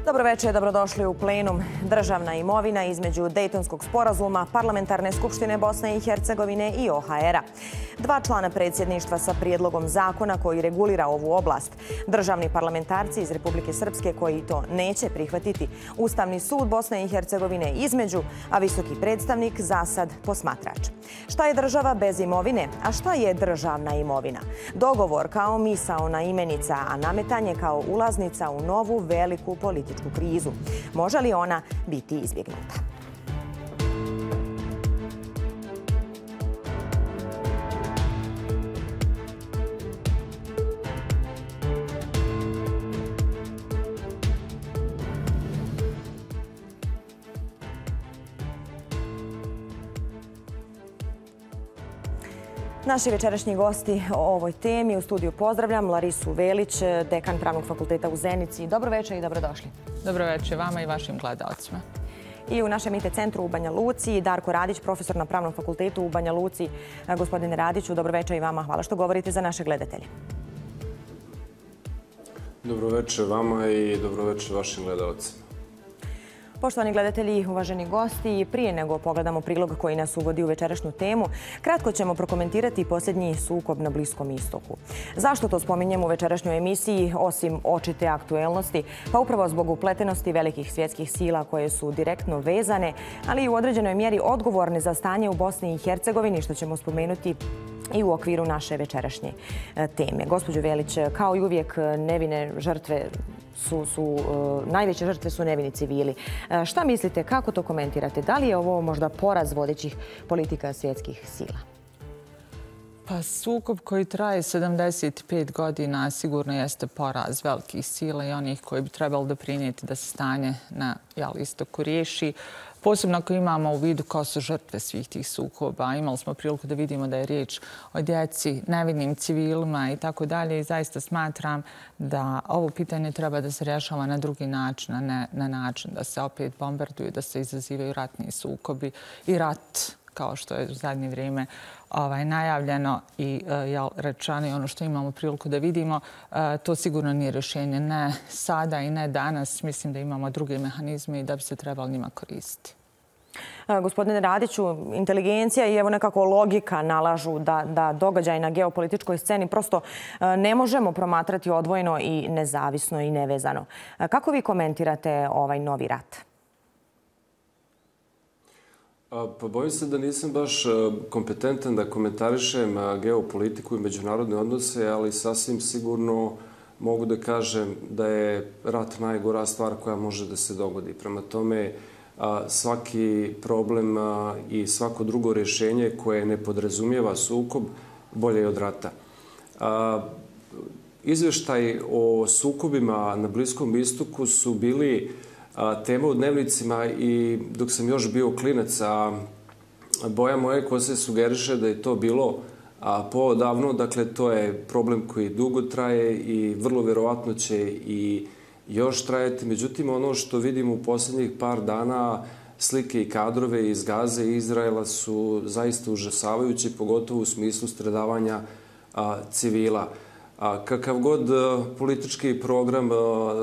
Dobro večer, dobrodošli u plenum. Državna imovina između Dejtonskog sporazuma, Parlamentarne skupštine Bosne i Hercegovine i OHR-a. 2 člana predsjedništva sa prijedlogom zakona koji regulira ovu oblast. Državni parlamentarci iz Republike Srpske koji to neće prihvatiti. Ustavni sud Bosne i Hercegovine između, a visoki predstavnik za sad posmatrač. Šta je država bez imovine, a šta je državna imovina? Dogovor kao misaona imenica, a nametanje kao ulaznica u novu veliku političku krizu. Može li ona biti izbjegnuta? Naši večerašnji gosti o ovoj temi u studiju pozdravljam Larisu Velić, dekan Pravnog fakulteta u Zenici. Dobro večer i dobrodošli. Dobro večer vama i vašim gledalcima. I u našem IT centru u Banja Luci, Darko Radić, profesor na Pravnom fakultetu u Banja Luci. Gospodine Radiću, dobro večer i vama. Hvala što govorite za naše gledatelje. Dobro večer vama i dobro večer vašim gledalcima. Poštovani gledatelji, uvaženi gosti, prije nego pogledamo prilog koji nas uvodi u večerašnju temu, kratko ćemo prokomentirati posljednji sukob na Bliskom istoku. Zašto to spominjemo u večerašnjoj emisiji, osim očite aktuelnosti? Pa upravo zbog upletenosti velikih svjetskih sila koje su direktno vezane, ali i u određenoj mjeri odgovorne za stanje u Bosni i Hercegovini, što ćemo spomenuti i u okviru naše večerašnje teme. Gospođo Velić, kao i uvijek nevine žrtve najveće žrtve su nevini civili. Šta mislite, kako to komentirate? Da li je ovo možda poraz vodećih politika svjetskih sila? Pa sukob koji traje 75 godina sigurno jeste poraz velikih sila i onih koji bi trebali doprinijeti da se stanje na istoku riješi. Posebno ako imamo u vidu ko su žrtve svih tih sukoba. Imali smo priliku da vidimo da je riječ o djeci, nevinim civilima i tako dalje. I zaista smatram da ovo pitanje treba da se rješava na drugi način, a ne na način da se opet bombarduju, da se izazivaju ratni sukobi i rat, kao što je u zadnje vrijeme najavljeno i rečeno i ono što imamo priliku da vidimo, to sigurno nije rješenje. Ne sada i ne danas. Mislim da imamo druge mehanizme i da bi se trebali njima koristiti. Gospodine Radiću, inteligencija i evo nekako logika nalažu da događaj na geopolitičkoj sceni prosto ne možemo promatrati odvojeno i nezavisno i nevezano. Kako vi komentirate ovaj novi rat? Pa bojim se da nisam baš kompetentan da komentarišem geopolitiku i međunarodne odnose, ali sasvim sigurno mogu da kažem da je rat najgora stvar koja može da se dogodi. Prema tome, svaki problem i svako drugo rješenje koje ne podrazumijeva sukob bolje je od rata. Izvještaj o sukobima na Bliskom istoku su bili tema u dnevnicima i dok sam još bio klinac, boja moje kose sugeriše da je to bilo poodavno. Dakle, to je problem koji dugo traje i vrlo vjerovatno će i još trajati. Međutim, ono što vidim u posljednjih par dana, slike i kadrove iz Gaze i Izraela su zaista užasavajući, pogotovo u smislu stradavanja civila. Kakav god politički program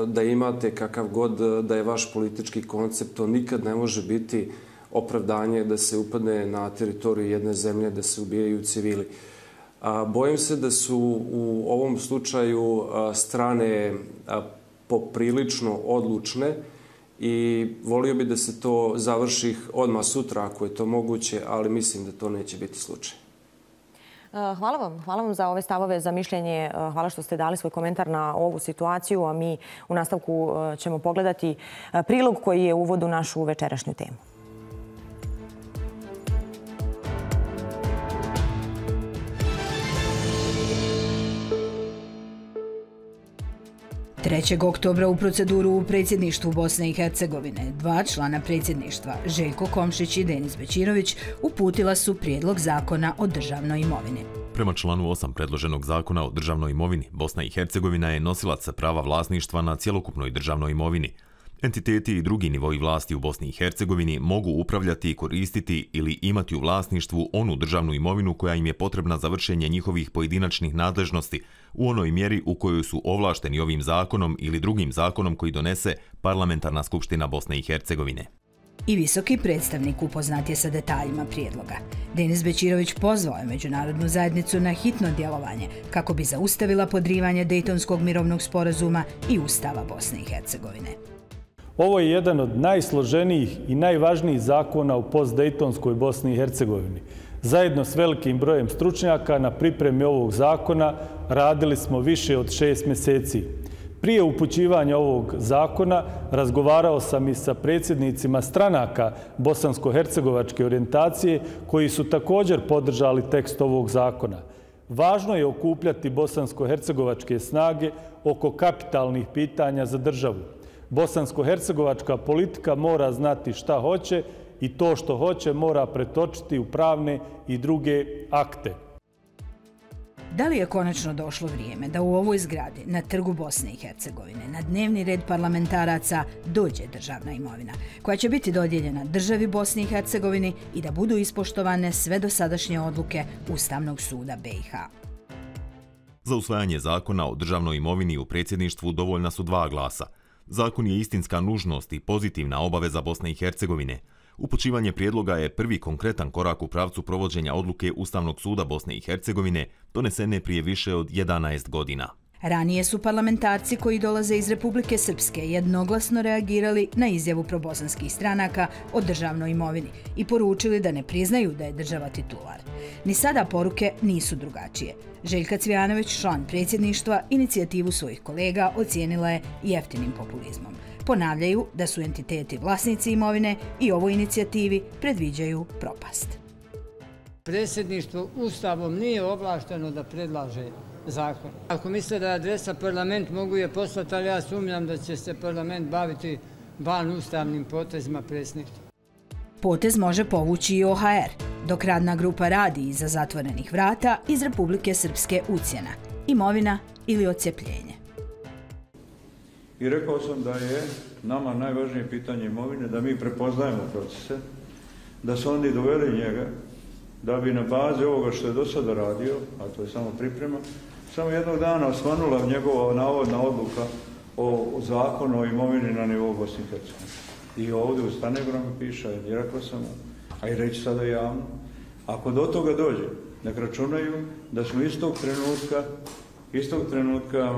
da imate, kakav god da je vaš politički koncept, to nikad ne može biti opravdanje da se upadne na teritoriju jedne zemlje, da se ubijaju civili. Bojim se da su u ovom slučaju strane poprilično odlučne i volio bi da se to završi odmah sutra ako je to moguće, ali mislim da to neće biti slučaj. Hvala vam za ove stavove, za mišljenje. Hvala što ste dali svoj komentar na ovu situaciju, a mi u nastavku ćemo pogledati prilog koji je uvod u našu večerašnju temu. 3. oktobra u proceduru u predsjedništvu Bosne i Hercegovine 2 člana predsjedništva, Željko Komšić i Denis Bećirović, uputila su prijedlog zakona o državnoj imovini. Prema članu 8 predloženog zakona o državnoj imovini, Bosna i Hercegovina je nosilac prava vlasništva na cjelokupnoj državnoj imovini. Entiteti i drugi nivoji vlasti u Bosni i Hercegovini mogu upravljati, koristiti ili imati u vlasništvu onu državnu imovinu koja im je potrebna za vršenje njihovih pojedinačnih nadležnosti u onoj mjeri u kojoj su ovlašteni ovim zakonom ili drugim zakonom koji donese Parlamentarna skupština Bosne i Hercegovine. I visoki predstavnik upoznat je sa detaljima prijedloga. Denis Bećirović pozvao je međunarodnu zajednicu na hitno djelovanje kako bi zaustavila podrivanje Dejtonskog mirovnog sporazuma i Ustava Bosne i Hercegovine. Ovo je jedan od najsloženijih i najvažnijih zakona u postdejtonskoj Bosni i Hercegovini. Zajedno s velikim brojem stručnjaka na pripremi ovog zakona radili smo više od 6 mjeseci. Prije upućivanja ovog zakona razgovarao sam i sa predsjednicima stranaka bosansko-hercegovačke orijentacije koji su također podržali tekst ovog zakona. Važno je okupljati bosansko-hercegovačke snage oko kapitalnih pitanja za državu. Bosansko-hercegovačka politika mora znati šta hoće i to što hoće mora pretočiti u pravne i druge akte. Da li je konačno došlo vrijeme da u ovoj zgradi na Trgu Bosne i Hercegovine na dnevni red parlamentaraca dođe državna imovina, koja će biti dodijeljena državi Bosni i Hercegovini i da budu ispoštovane sve dosadašnje odluke Ustavnog suda BiH? Za usvajanje zakona o državnoj imovini u predsjedništvu dovoljna su 2 glasa. Zakon je istinska nužnost i pozitivna obaveza Bosne i Hercegovine. Upućivanje prijedloga je prvi konkretan korak u pravcu provođenja odluke Ustavnog suda Bosne i Hercegovine, donesene prije više od 11 godina. Ranije su parlamentarci koji dolaze iz Republike Srpske jednoglasno reagirali na izjavu probosanskih stranaka o državnoj imovini i poručili da ne priznaju da je država titular. Ni sada poruke nisu drugačije. Željka Cvijanović, član predsjedništva, inicijativu svojih kolega ocijenila je jeftinim populizmom. Ponavljaju da su entiteti vlasnici imovine i ovoj inicijativi predviđaju propast. Predsjedništvo Ustavom nije ovlašteno da predlaže zakon. Ako misle da je adresa parlament, mogu je poslati, ali ja sumnjam da će se parlament baviti van ustavnim potezima predsjedništva. Potez može povući i OHR, dok radna grupa radi iza zatvorenih vrata iz Republike Srpske ucjena, imovina ili odcepljenje. I rekao sam da je nama najvažnije pitanje imovine, da mi prepoznajemo procese, da su oni doveli njega, da bi na bazi ovoga što je do sada radio, a to je samo priprema, samo jednog dana osvanula njegova navodna odluka o zakonu o imovini na nivou Bosne i Hercegovine. I ovdje u stenogramu piše, i rekao sam, a i reći sada javno, ako do toga dođe, nek računaju da smo istog trenutka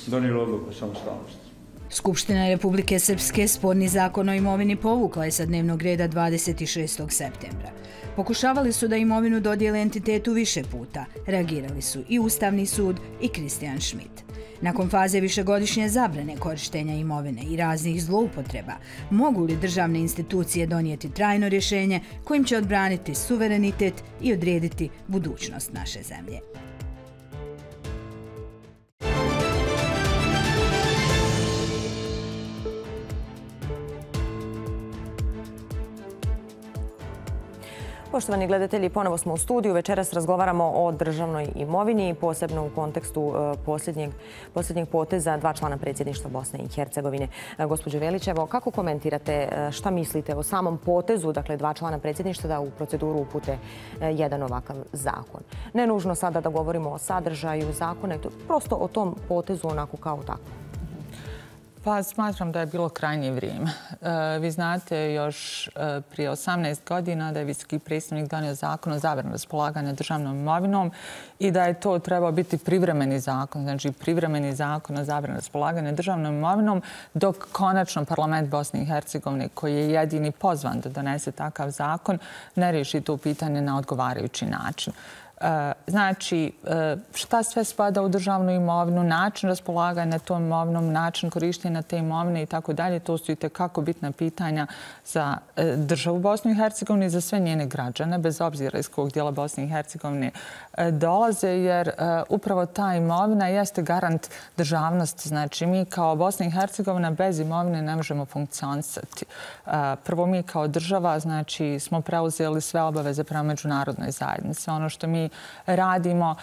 donijeli odluku o samostalnosti. Skupština Republike Srpske sporni zakon o imovini povukla je sa dnevnog reda 26. septembra. Pokušavali su da imovinu dodijele entitetu više puta. Reagirali su i Ustavni sud i Kristijan Schmidt. Nakon faze višegodišnje zabrane korištenja imovine i raznih zloupotreba, mogu li državne institucije donijeti trajno rješenje kojim će odbraniti suverenitet i odrediti budućnost naše zemlje? Poštovani gledatelji, ponovo smo u studiju. Večeras razgovaramo o državnoj imovini, posebno u kontekstu posljednjeg poteza 2 člana predsjedništva Bosne i Hercegovine. Gospođo Velić, evo, kako komentirate, šta mislite o samom potezu, dakle 2 člana predsjedništva da u proceduru upute jedan ovakav zakon? Ne nužno sada da govorimo o sadržaju zakona, prosto o tom potezu onako kao tako. Pa smatram da je bilo krajnje vrijeme. Vi znate još prije 18 godina da je visoki predstavnik donio zakon o zabrani raspolaganja državnom imovinom i da je to trebao biti privremeni zakon, znači privremeni zakon o zabrani raspolaganja državnom imovinom, dok konačno parlament Bosne i Hercegovine, koji je jedini pozvan da donese takav zakon, ne riješi to pitanje na odgovarajući način. Znači, šta sve spada u državnu imovinu, način raspolaganja tom imovinom, način korištenja te imovine i tako dalje, to su i tekako bitna pitanja za državu Bosnu i Hercegovinu i za sve njene građane, bez obzira iz kog dijela Bosne i Hercegovine dolaze, jer upravo ta imovina jeste garant državnosti. Znači, mi kao Bosna i Hercegovina bez imovine ne možemo funkcionisati. Prvo, mi kao država, znači, smo preuzeli sve obaveze prema međunarodnoj zajednici. Ono što mi mi radimo,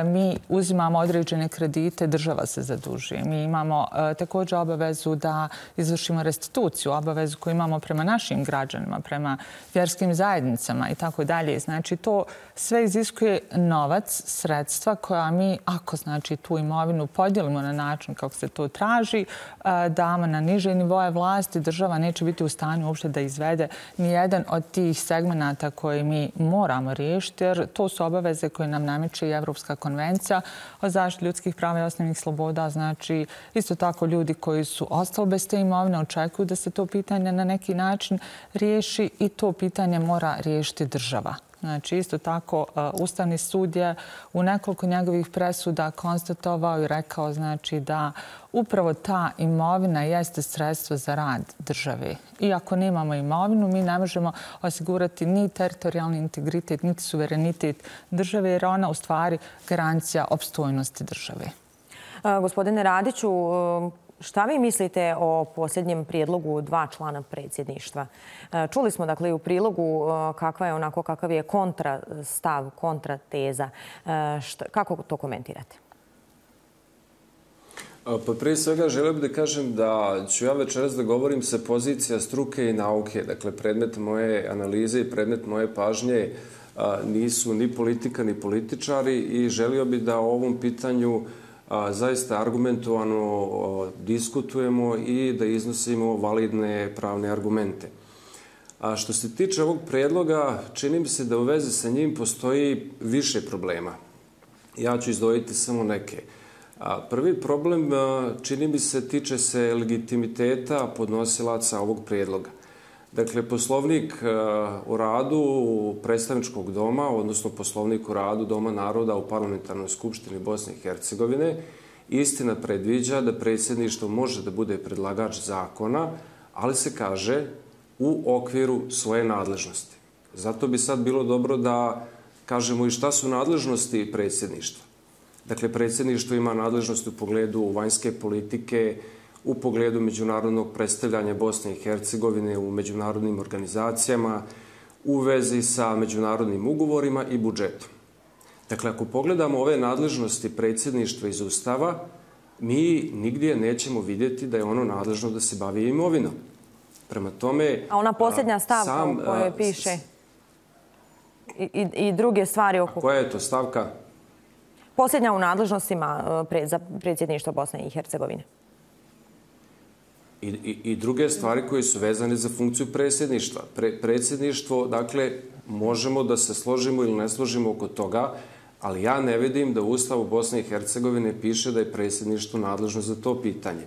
mi uzimamo određene kredite, država se zadužuje. Mi imamo također obavezu da izvršimo restituciju, obavezu koju imamo prema našim građanima, prema vjerskim zajednicama i tako dalje. Znači, to sve iziskuje novac, sredstva koja mi, ako znači tu imovinu podijelimo na način kako se to traži, damo na niže nivoje vlasti, država neće biti u stanju uopšte da izvede nijedan od tih segmenata koje mi moramo riješiti, jer to su obaveze koje nam nameće i Evropska konvencija o zaštiti ljudskih prava i osnovnih sloboda. Znači, isto tako ljudi koji su ostali bez te imovine očekuju da se to pitanje na neki način riješi i to pitanje mora riješiti država. Znači, isto tako, Ustavni sud je u nekoliko njegovih presuda konstatovao i rekao znači, da upravo ta imovina jeste sredstvo za rad države. I ako nemamo imovinu, mi ne možemo osigurati ni teritorijalni integritet, niti suverenitet države, jer ona u stvari garancija opstojnosti države. Gospodine Radiću, šta vi mislite o posljednjem prijedlogu 2 člana predsjedništva? Čuli smo dakle i u prilogu kakav je kontrastav, kontrateza. Kako to komentirate? Pa prije svega želio bih da kažem da ću ja večeras da govorim sa pozicija struke i nauke. Dakle, predmet moje analize i predmet moje pažnje nisu ni politika ni političari i želio bih da o ovom pitanju zaista argumentovano diskutujemo i da iznosimo validne pravne argumente. A što se tiče ovog predloga, čini mi se da u vezi sa njim postoji više problema. Ja ću izdvojiti samo neke. Prvi problem, čini mi se, tiče se legitimiteta podnosilaca ovog predloga. Dakle, poslovnik o radu predstavničkog doma, odnosno poslovnik o radu Doma naroda u Parlamentarnoj skupštini Bosne i Hercegovine, istina predviđa da predsjedništvo može da bude predlagač zakona, ali se kaže u okviru svoje nadležnosti. Zato bi sad bilo dobro da kažemo i šta su nadležnosti predsjedništva. Dakle, predsjedništvo ima nadležnost u pogledu vanjske politike, u pogledu međunarodnog predstavljanja Bosne i Hercegovine u međunarodnim organizacijama, u vezi sa međunarodnim ugovorima i budžetom. Dakle, ako pogledamo ove nadležnosti predsjedništva iz Ustava, mi nigdje nećemo vidjeti da je ono nadležno da se bavi imovinom. Prema tome... A ona posljednja stavka u kojoj piše i druge stvari oko... Koja je to stavka? Posljednja u nadležnostima za predsjedništvo Bosne i Hercegovine. I druge stvari koje su vezane za funkciju predsjedništva. Predsjedništvo, dakle, možemo da se složimo ili ne složimo oko toga, ali ja ne vidim da u Ustavu Bosne i Hercegovine piše da je predsjedništvo nadležno za to pitanje.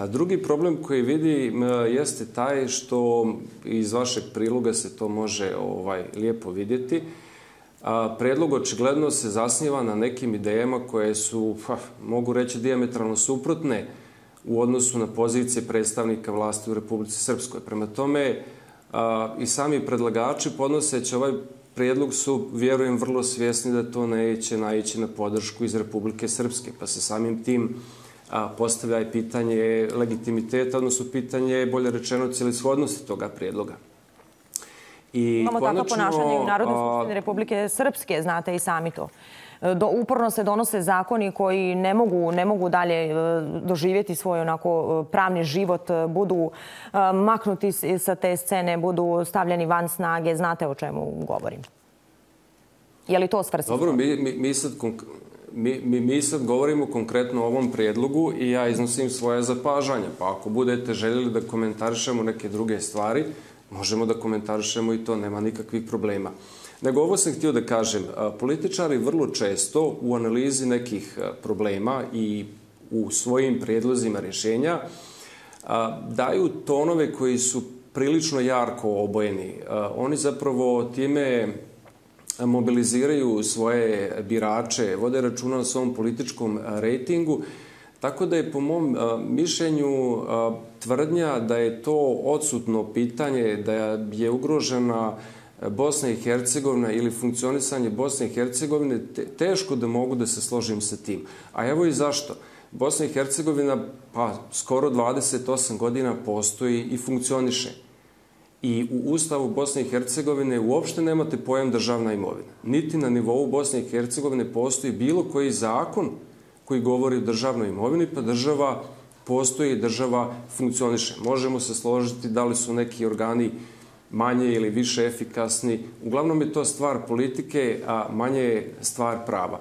Drugi problem koji vidim jeste taj što iz vašeg priloga se to može lijepo vidjeti. Predlog očigledno se zasniva na nekim idejama koje su, mogu reći, dijametralno suprotne u odnosu na pozicije predstavnika vlasti u Republici Srpskoj. Prema tome, i sami predlagači podnoseći ovaj prijedlog su, vjerujem, vrlo svjesni da to neće naići na podršku iz Republike Srpske, pa se samim tim postavlja i pitanje legitimiteta, odnosno pitanje, bolje rečeno, celishodnosti toga prijedloga. Imamo tako ponašanje u Narodnoj skupštini Republike Srpske, znate i sami to. Uporno se donose zakoni koji ne mogu dalje doživjeti svoj onako pravni život, budu maknuti sa te scene, budu stavljeni van snage. Znate o čemu govorim? Je li to svrsishodno? Dobro, mi sad govorimo konkretno o ovom prijedlogu i ja iznosim svoje zapažanja. Pa ako budete željeli da komentarišemo neke druge stvari, možemo da komentarišemo i to, nema nikakvih problema. Nego ovo sam htio da kažem, političari vrlo često u analizi nekih problema i u svojim prijedlozima rješenja daju tonove koji su prilično jarko obojeni. Oni zapravo time mobiliziraju svoje birače, vode računa o svom političkom rejtingu, tako da je po mom mišljenju tvrdnja da je to odsutno pitanje, da je ugrožena Bosna i Hercegovina ili funkcionisanje Bosne i Hercegovine, teško da mogu da se složim sa tim. A evo i zašto. Bosna i Hercegovina skoro 28 godina postoji i funkcioniše. I u Ustavu Bosne i Hercegovine uopšte nemate pojam državna imovina. Niti na nivou Bosne i Hercegovine postoji bilo koji zakon koji govori o državnoj imovini, pa država postoji i država funkcioniše. Možemo se složiti da li su neki organi manje ili više efikasni. Uglavnom je to stvar politike, a manje je stvar prava.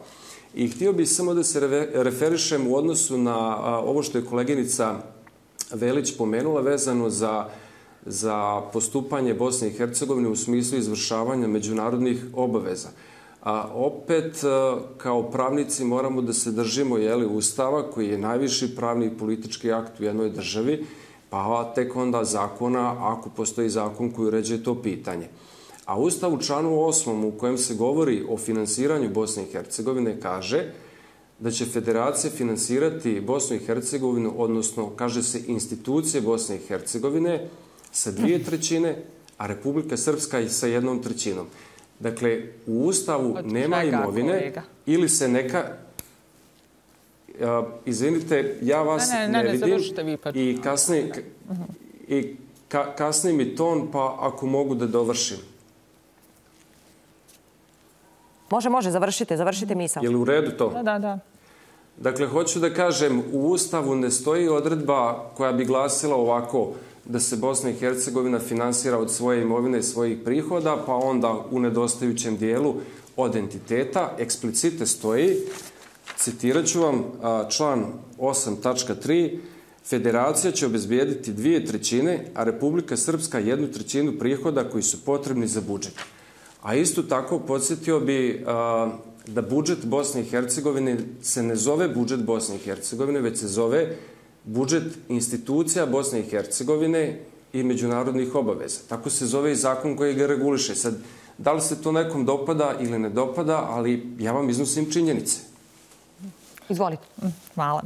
I htio bih samo da se referišem u odnosu na ovo što je koleginica Velić pomenula vezano za postupanje Bosne i Hercegovine u smislu izvršavanja međunarodnih obaveza. A opet, kao pravnici, moramo da se držimo Ustava, koji je najviši pravni i politički akt u jednoj državi, pa tek onda zakona, ako postoji zakon koji uređuje to pitanje. A Ustav u članu 8. u kojem se govori o finansiranju Bosne i Hercegovine kaže da će federacija finansirati Bosnu i Hercegovinu, odnosno, kaže se, institucije Bosne i Hercegovine sa 2/3, a Republika Srpska sa 1/3. Dakle, u Ustavu nema imovine ili se neka... Izvinite, ja vas ne vidim i kasni mi ton, pa ako mogu da dovršim. Može, završite misao. Je li u redu to? Da. Dakle, hoću da kažem, u Ustavu ne stoji odredba koja bi glasila ovako da se Bosna i Hercegovina finansira od svoje imovine i svojih prihoda, pa onda u nedostajućem dijelu od entiteta. Eksplicite stoji, citirat ću vam član 8.3, Federacija će obezbijediti 2/3, a Republika Srpska 1/3 prihoda koji su potrebni za budžet. A isto tako podsjetio bi da budžet Bosne i Hercegovine se ne zove budžet Bosne i Hercegovine, već se zove budžet institucija Bosne i Hercegovine i međunarodnih obaveza. Tako se zove i zakon koji ga reguliše. Sad, da li se to nekom dopada ili ne dopada, ali ja vam iznosim činjenice. Izvolite. Hvala.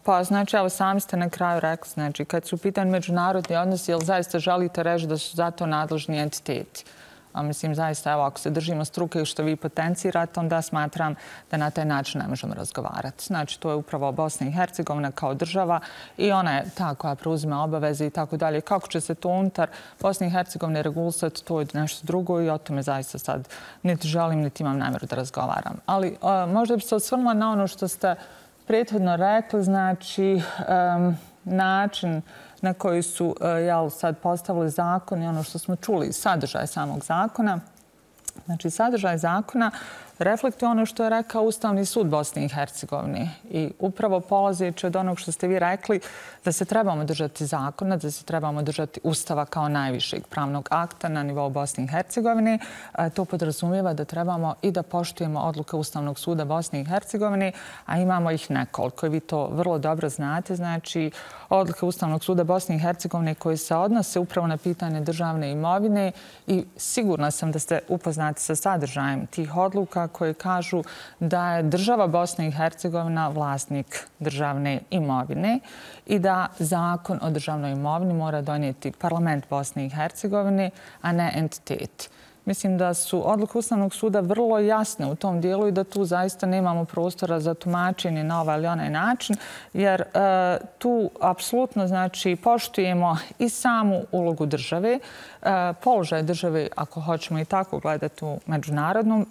Pa, znači, evo, sami ste na kraju rekli, znači, kad su pitan međunarodni odnosi, jel zaista želite reći da su za to nadležni entiteti? A mislim, zaista, evo, ako se držimo struke i što vi potencirate, onda smatram da na taj način ne možemo razgovarati. Znači, to je upravo Bosna i Hercegovina kao država i ona je ta koja preuzima obaveze i tako dalje. Kako će se to unutar Bosne i Hercegovine regulisati, to je nešto drugo i o tome zaista sad niti želim, niti imam namjeru da razgovaram. Ali možda bi se osvrnula na ono što ste prethodno rekli, znači, način na koji su sad postavili zakon i ono što smo čuli, sadržaj samog zakona. Znači, sadržaj zakona reflektuje ono što je rekao Ustavni sud Bosne i Hercegovine. I upravo polazeći od onog što ste vi rekli, da se trebamo držati zakona, da se trebamo držati Ustava kao najvišeg pravnog akta na nivou Bosne i Hercegovine. To podrazumijeva da trebamo i da poštujemo odluke Ustavnog suda Bosne i Hercegovine, a imamo ih nekoliko. Vi to vrlo dobro znate. Znači, odluke Ustavnog suda Bosne i Hercegovine koje se odnose upravo na pitanje državne imovine i sigurna sam da ste upoznati sa sadržajem tih odluka koje kažu da je država Bosna i Hercegovina vlasnik državne imovine i da zakon o državnoj imovini mora donijeti parlament Bosne i Hercegovine, a ne entitet. Mislim da su odluke Ustavnog suda vrlo jasne u tom dijelu i da tu zaista nemamo prostora za tumačenje na ovaj ili onaj način, jer tu apsolutno, znači, poštujemo i samu ulogu države, položaj države, ako hoćemo i tako gledati u međunarodnom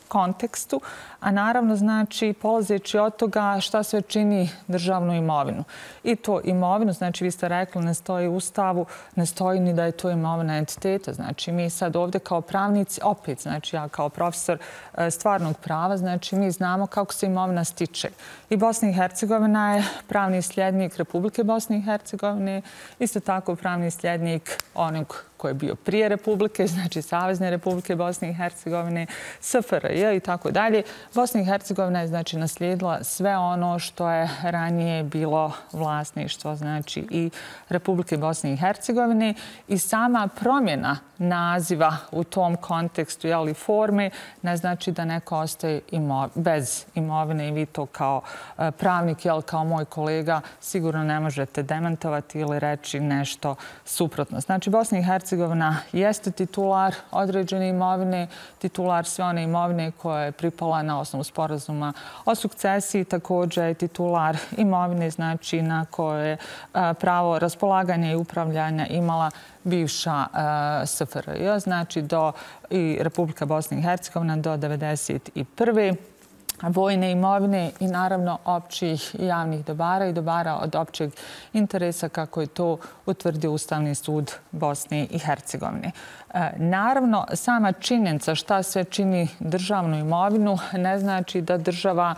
kontekstu, a naravno, znači, polazeći od toga šta sve čini državnu imovinu. I to imovinu, znači, vi ste rekli, ne stoji u Ustavu, ne stoji ni da je to imovina entiteta. Znači, mi sad ovdje kao pravnici, opet, znači, ja kao profesor stvarnog prava, znači, mi znamo kako se imovina stiče. I Bosna i Hercegovina je pravni sljednik Republike Bosne i Hercegovine, isto tako pravni sljednik onog koji je bio prije Republike, znači Savezne Republike Bosne i Hercegovine, SFRJ i tako dalje. Bosna i Hercegovina je, znači, naslijedila sve ono što je ranije bilo vlasništvo, znači, i Republike Bosne i Hercegovine i sama promjena naziva u tom kontekstu, jeli, forme, ne znači da neko ostaje bez imovine i vi to kao pravnik, jel, kao moj kolega, sigurno ne možete demantovati ili reći nešto suprotno. Znači, Bosna i Hercegovina Hercegovina jeste titular određene imovine, titular sve one imovine koja je pripala na osnovu sporazuma o sukcesiji, također je titular imovine, znači na koje je pravo raspolaganja i upravljanja imala bivša SFRJ, znači i Republika Bosna i Hercegovina do 1991. vojne imovine i naravno općih i javnih dobara i dobara od općeg interesa kako je to utvrdio Ustavni sud Bosne i Hercegovine. Naravno, sama činjenica šta sve čini državnu imovinu ne znači da država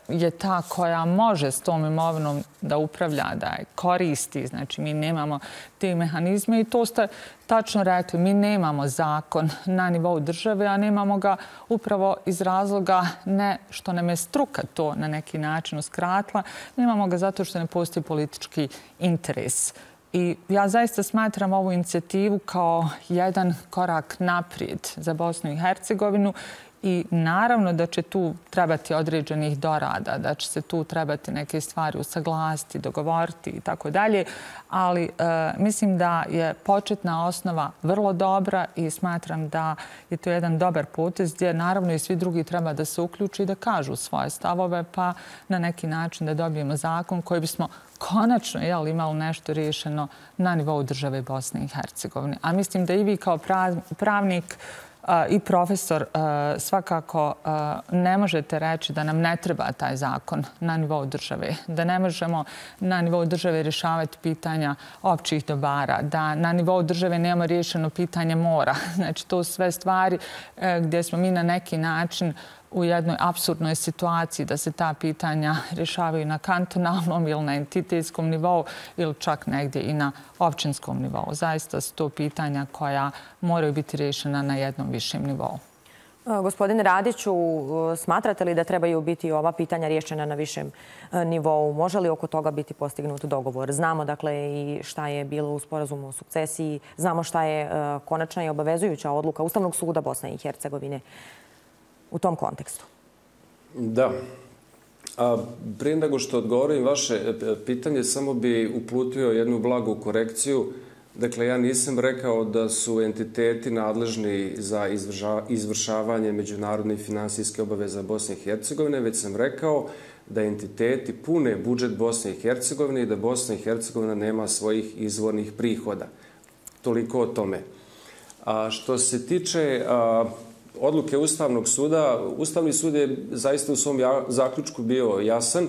je ta koja može s tom imovinom da upravlja, da je koristi. Znači, mi nemamo te mehanizme i to ste tačno rekli. Mi nemamo zakon na nivou države, a nemamo ga upravo iz razloga ne što nam je struka to na neki način uskratila, nemamo ga zato što ne postoji politički interes. I ja zaista smatram ovu inicijativu kao jedan korak naprijed za Bosnu i Hercegovinu i naravno da će tu trebati određenih dorada, da će se tu trebati neke stvari usaglasiti, dogovoriti i tako dalje, ali mislim da je početna osnova vrlo dobra i smatram da je to jedan dobar potez gdje naravno i svi drugi treba da se uključi i da kažu svoje stavove pa na neki način da dobijemo zakon koji bismo konačno imali nešto riješeno na nivou države Bosne i Hercegovine. A mislim da i vi kao pravnik i profesor svakako ne možete reći da nam ne treba taj zakon na nivou države, da ne možemo na nivou države rješavati pitanja općih dobara, da na nivou države nemamo riješeno pitanje mora. Znači, to su sve stvari gdje smo mi na neki način u jednoj apsurdnoj situaciji da se ta pitanja rješavaju na kantonalnom ili na entitetskom nivou ili čak negdje i na općinskom nivou. Zaista su to pitanja koja moraju biti rješena na jednom višem nivou. Gospodine Radiću, smatrate li da trebaju biti ova pitanja rješena na višem nivou? Može li oko toga biti postignut dogovor? Znamo dakle i šta je bilo u sporazumu o sukcesiji, znamo šta je konačna i obavezujuća odluka Ustavnog suda Bosne i Hercegovine u tom kontekstu. Da. Prije nego što odgovorim vaše pitanje, samo bi uputio jednu blagu korekciju. Dakle, ja nisam rekao da su entiteti nadležni za izvršavanje međunarodne i finansijske obaveze Bosne i Hercegovine, već sam rekao da entiteti pune budžet Bosne i Hercegovine i da Bosna i Hercegovina nema svojih izvornih prihoda. Toliko o tome. Što se tiče odluke Ustavnog suda, Ustavni sud je zaista u svom zaključku bio jasan,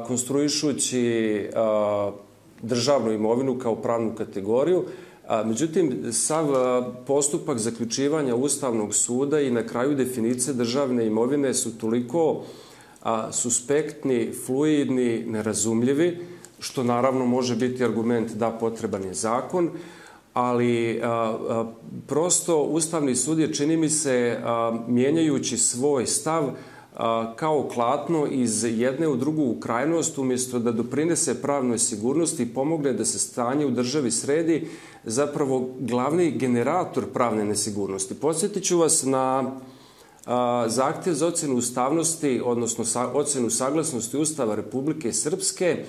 konstruišući državnu imovinu kao pravnu kategoriju. Međutim, sav postupak zaključivanja Ustavnog suda i na kraju definicije državne imovine su toliko suspektni, fluidni, nerazumljivi, što naravno može biti argument da potreban je zakon, ali prosto Ustavni sud je, čini mi se, mijenjajući svoj stav kao klatno iz jedne u drugu krajnost, umjesto da doprinese pravnoj sigurnosti i pomogne da se stanje u državi sredi, zapravo glavni generator pravne nesigurnosti. Podsjetit ću vas na zahtjev za ocjenu ustavnosti, odnosno ocjenu saglasnosti Ustava Republike Srpske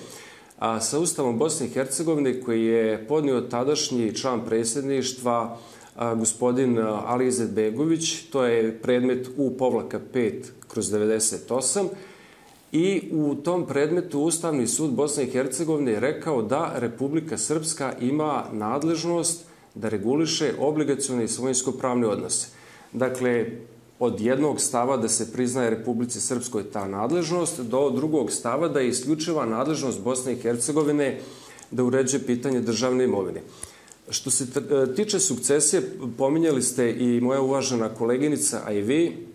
sa Ustavom Bosne i Hercegovine koji je podnio tadašnji član predsjedništva gospodin Ali Izetbegović. To je predmet U-5/98 i u tom predmetu Ustavni sud Bosne i Hercegovine je rekao da Republika Srpska ima nadležnost da reguliše obligacione i svojinsko-pravne odnose. Dakle, od jednog stava da se priznaje Republici Srpskoj ta nadležnost do drugog stava da je isključiva nadležnost Bosne i Hercegovine da uređuje pitanje državne imovine. Što se tiče sukcesije, pominjali ste i moja uvažena koleginica, a i vi,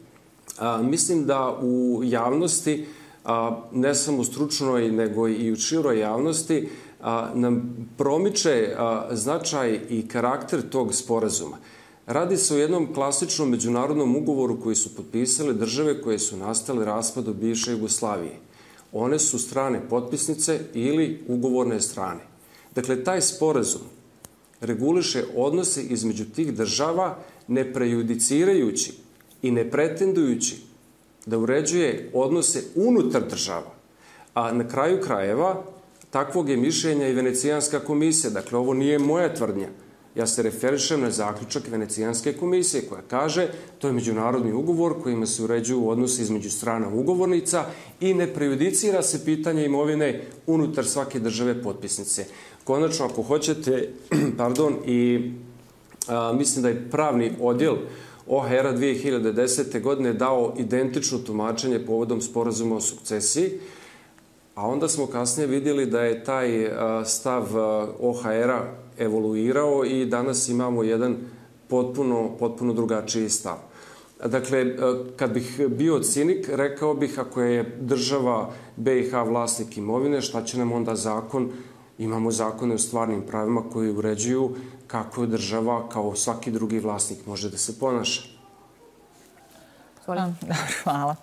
mislim da u javnosti, ne samo u stručnoj, nego i u široj javnosti, nam promiče značaj i karakter tog sporazuma. Radi se o jednom klasičnom međunarodnom ugovoru koji su potpisale države koje su nastale raspadom bivše Jugoslavije. One su strane potpisnice ili ugovorne strane. Dakle, taj sporazum reguliše odnose između tih država ne prejudicirajući i ne pretendujući da uređuje odnose unutar država. A na kraju krajeva takvog je mišljenja i Venecijanska komisija. Dakle, ovo nije moja tvrdnja. Ja se referišem na zaključak Venecijanske komisije koja kaže to je međunarodni ugovor kojima se uređuju odnosi između strana ugovornica i ne prejudicira se pitanje imovine unutar svake države potpisnice. Konačno, ako hoćete, i mislim da je pravni odjel OHR-a 2010. godine dao identično tumačenje povodom sporazuma o sukcesiji, a onda smo kasnije vidjeli da je taj stav OHR-a evoluirao i danas imamo jedan potpuno drugačiji stav. Dakle, kad bih bio cinik, rekao bih ako je država BiH vlasnik imovine, šta će nam onda zakon? Imamo zakone o stvarnim pravima koji uređuju kako država, kao svaki drugi vlasnik, može da se ponaša. Hvala.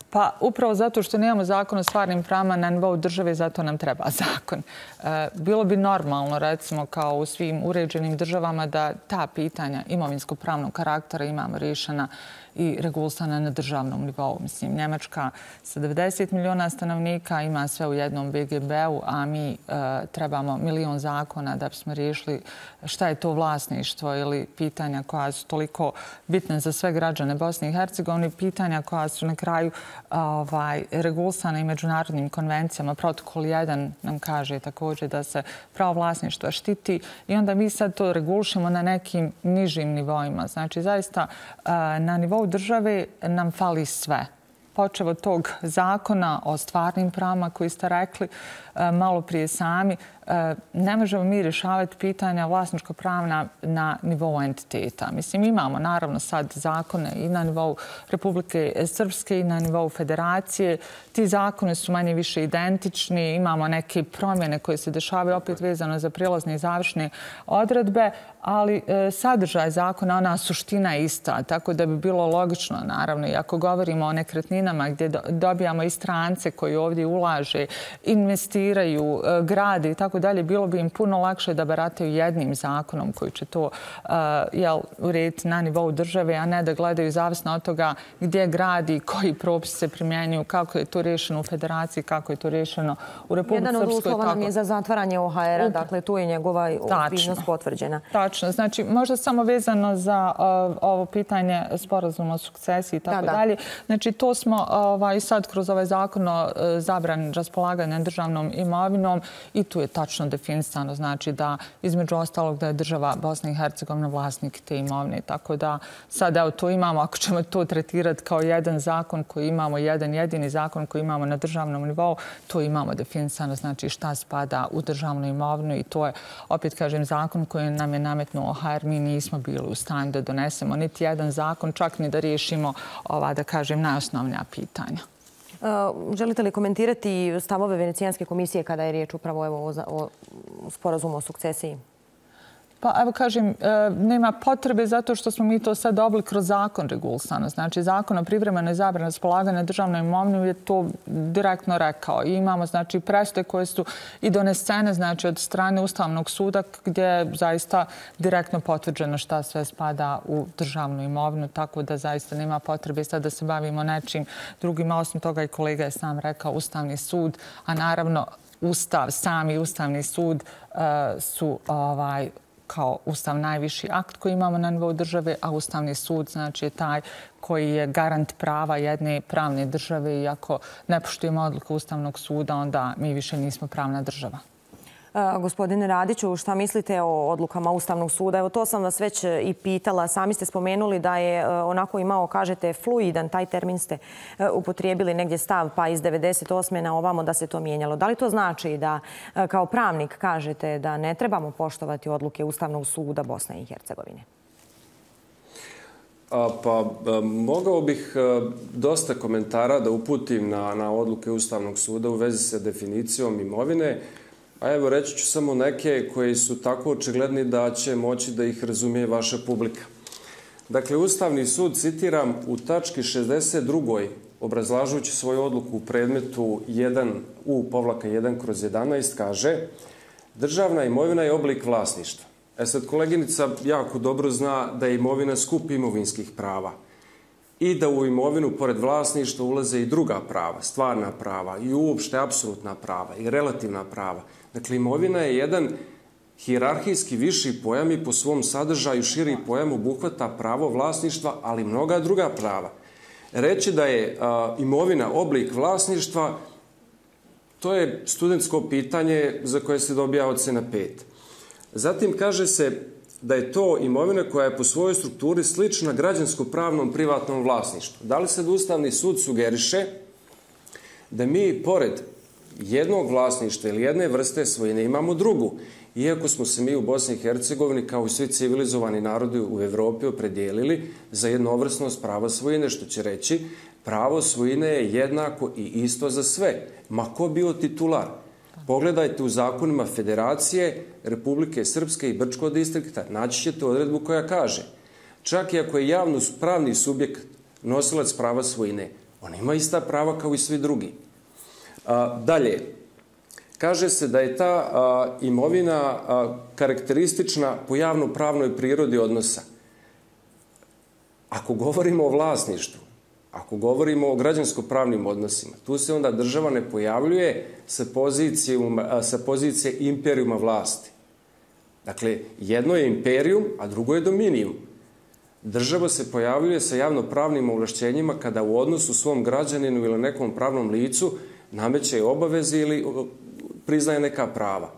Pa upravo zato što nemamo zakon o stvarnim pravima na nivou države, zato nam treba zakon. Bilo bi normalno, recimo, kao u svim uređenim državama, da ta pitanja imovinsko-pravnog karaktera imamo rješena i regulisana na državnom nivou. Mislim, Njemačka sa 90 miliona stanovnika ima sve u jednom BGB-u, a mi trebamo milion zakona da bismo riješili šta je to vlasništvo ili pitanja koja su toliko bitne za sve građane Bosne i Hercegovine, pitanja koja su na kraju regulisana i međunarodnim konvencijama. Protokol 1 nam kaže također da se pravo vlasništva štiti i onda mi sad to regulišemo na nekim nižim nivoima. Znači, zaista na nivou države nam fali sve. Počev od tog zakona o stvarnim pravima koji ste rekli malo prije sami, ne možemo mi rješavati pitanja vlasničko-pravna na nivou entiteta. Mislim, imamo naravno sad zakone i na nivou Republike Srpske i na nivou Federacije. Ti zakone su manje više identični, imamo neke promjene koje se dešavaju opet vezano za prijelazne i završne odredbe, ali sadržaj zakona, ona suština je ista, tako da bi bilo logično, naravno, i ako govorimo o nekretninama gdje dobijamo i strance koji ovdje ulaže, investiraju, grade i tako dalje, bilo bi im puno lakše da barataju jednim zakonom koji će to urediti na nivou države, a ne da gledaju zavisno od toga gdje gradi, koji propisi se primjenjuju, kako je to rješeno u Federaciji, kako je to rješeno u Republici Srpskoj. Jedan od uslova nam je za zatvaranje OHR-a, dakle tu je njegova ozbiljnost potvrđena. Tačno. Znači, možda samo vezano za ovo pitanje sporazuma o sukcesiji i tako dalje. Znači, to smo i sad kroz ovaj zakon o zabrani raspolaganja državnom imovinom i tu je tačno definisano, znači da između ostalog da je država Bosna i Hercegovina vlasnik te imovine. Tako da sad evo to imamo, ako ćemo to tretirati kao jedan zakon koji imamo, jedan jedini zakon koji imamo na državnom nivou, to imamo definisano, znači šta spada u državnu imovinu i to je, opet kažem, zakon koji nam je nametnuo OHR. Mi nismo bili u stanju da donesemo niti jedan zakon, čak ni da riješimo da kažem, najosnovnija pitanja. Želite li komentirati stavove Venecijanske komisije kada je riječ upravo o sporazumu o sukcesiji? Pa evo kažem, nema potrebe zato što smo mi to sad dobili kroz zakon regulisano. Znači, zakon o privremenoj zabrani raspolaganja državnom imovinom je to direktno rekao. I imamo, znači, presude koje su i donesene, znači, od strane Ustavnog suda gdje je zaista direktno potvrđeno šta sve spada u državnu imovinu, tako da zaista nema potrebe sad da se bavimo nečim drugim. Osim toga i kolega je sam rekao Ustavni sud, a naravno sami Ustavni sud su kao Ustav najviši akt koji imamo na nivou države, a Ustavni sud znači je taj koji je garant prava jedne pravne države i ako ne poštujemo odluku Ustavnog suda, onda mi više nismo pravna država. Gospodine Radiću, šta mislite o odlukama Ustavnog suda? Evo to sam vas već i pitala. Sami ste spomenuli da je onako imao, kažete, fluidan, taj termin ste upotrijebili negdje stav, pa iz 98. na ovamo da se to mijenjalo. Da li to znači da kao pravnik kažete da ne trebamo poštovati odluke Ustavnog suda Bosne i Hercegovine? Pa mogao bih dosta komentara da uputim na odluke Ustavnog suda u vezi sa definicijom imovine. A evo reći ću samo neke koji su tako očigledni da će moći da ih razumije vaša publika. Dakle, Ustavni sud, citiram, u tački 62. obrazlažući svoju odluku u predmetu 1U-1/11 kaže: državna imovina je oblik vlasništva. Sad koleginica jako dobro zna da je imovina skup imovinskih prava i da u imovinu, pored vlasništva, ulaze i druga prava, stvarna prava i uopšte apsolutna prava i relativna prava. Dakle, imovina je jedan hijerarhijski viši pojam i po svom sadržaju širi pojam obuhvata pravo vlasništva, ali mnoga druga prava. Reći da je imovina oblik vlasništva, to je studentsko pitanje za koje se dobija ocena 5. Zatim kaže se da je to imovina koja je po svojoj strukturi slična građansko-pravnom privatnom vlasništvu. Da li se Ustavni sud sugeriše da mi pored jednog vlasništva ili jedne vrste svojine imamo drugu, iako smo se mi u Bosni i Hercegovini kao i svi civilizovani narodi u Evropi opredijelili za jednovrsnost prava svojine, što će reći pravo svojine je jednako i isto za sve, ma ko bio titular. Pogledajte u zakonima Federacije, Republike Srpske i Brčkog distrikta, naći ćete odredbu koja kaže čak i ako je javno pravni subjekt nosilac prava svojine, on ima ista prava kao i svi drugi. Dalje, kaže se da je ta imovina karakteristična po javno-pravnoj prirodi odnosa. Ako govorimo o vlasništvu, ako govorimo o građansko-pravnim odnosima, tu se onda država ne pojavljuje sa pozicije imperijuma vlasti. Dakle, jedno je imperijum, a drugo je dominijum. Država se pojavljuje sa javno-pravnim ovlašćenjima kada u odnosu svom građaninu ili nekom pravnom licu nameće obaveze ili priznaje neka prava.